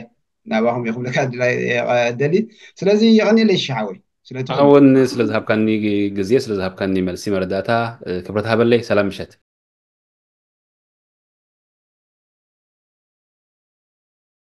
ናባኹም ይኽብለካ ደሊ። ስለዚ የቐኒለይ ሽሓወይ ስለእውን ስለዝሃብካኒ ግዜ ስለዝሃብካኒ መልሲ መረዳእታ ክብረት ሃበለይ። ሰላም ምሸት።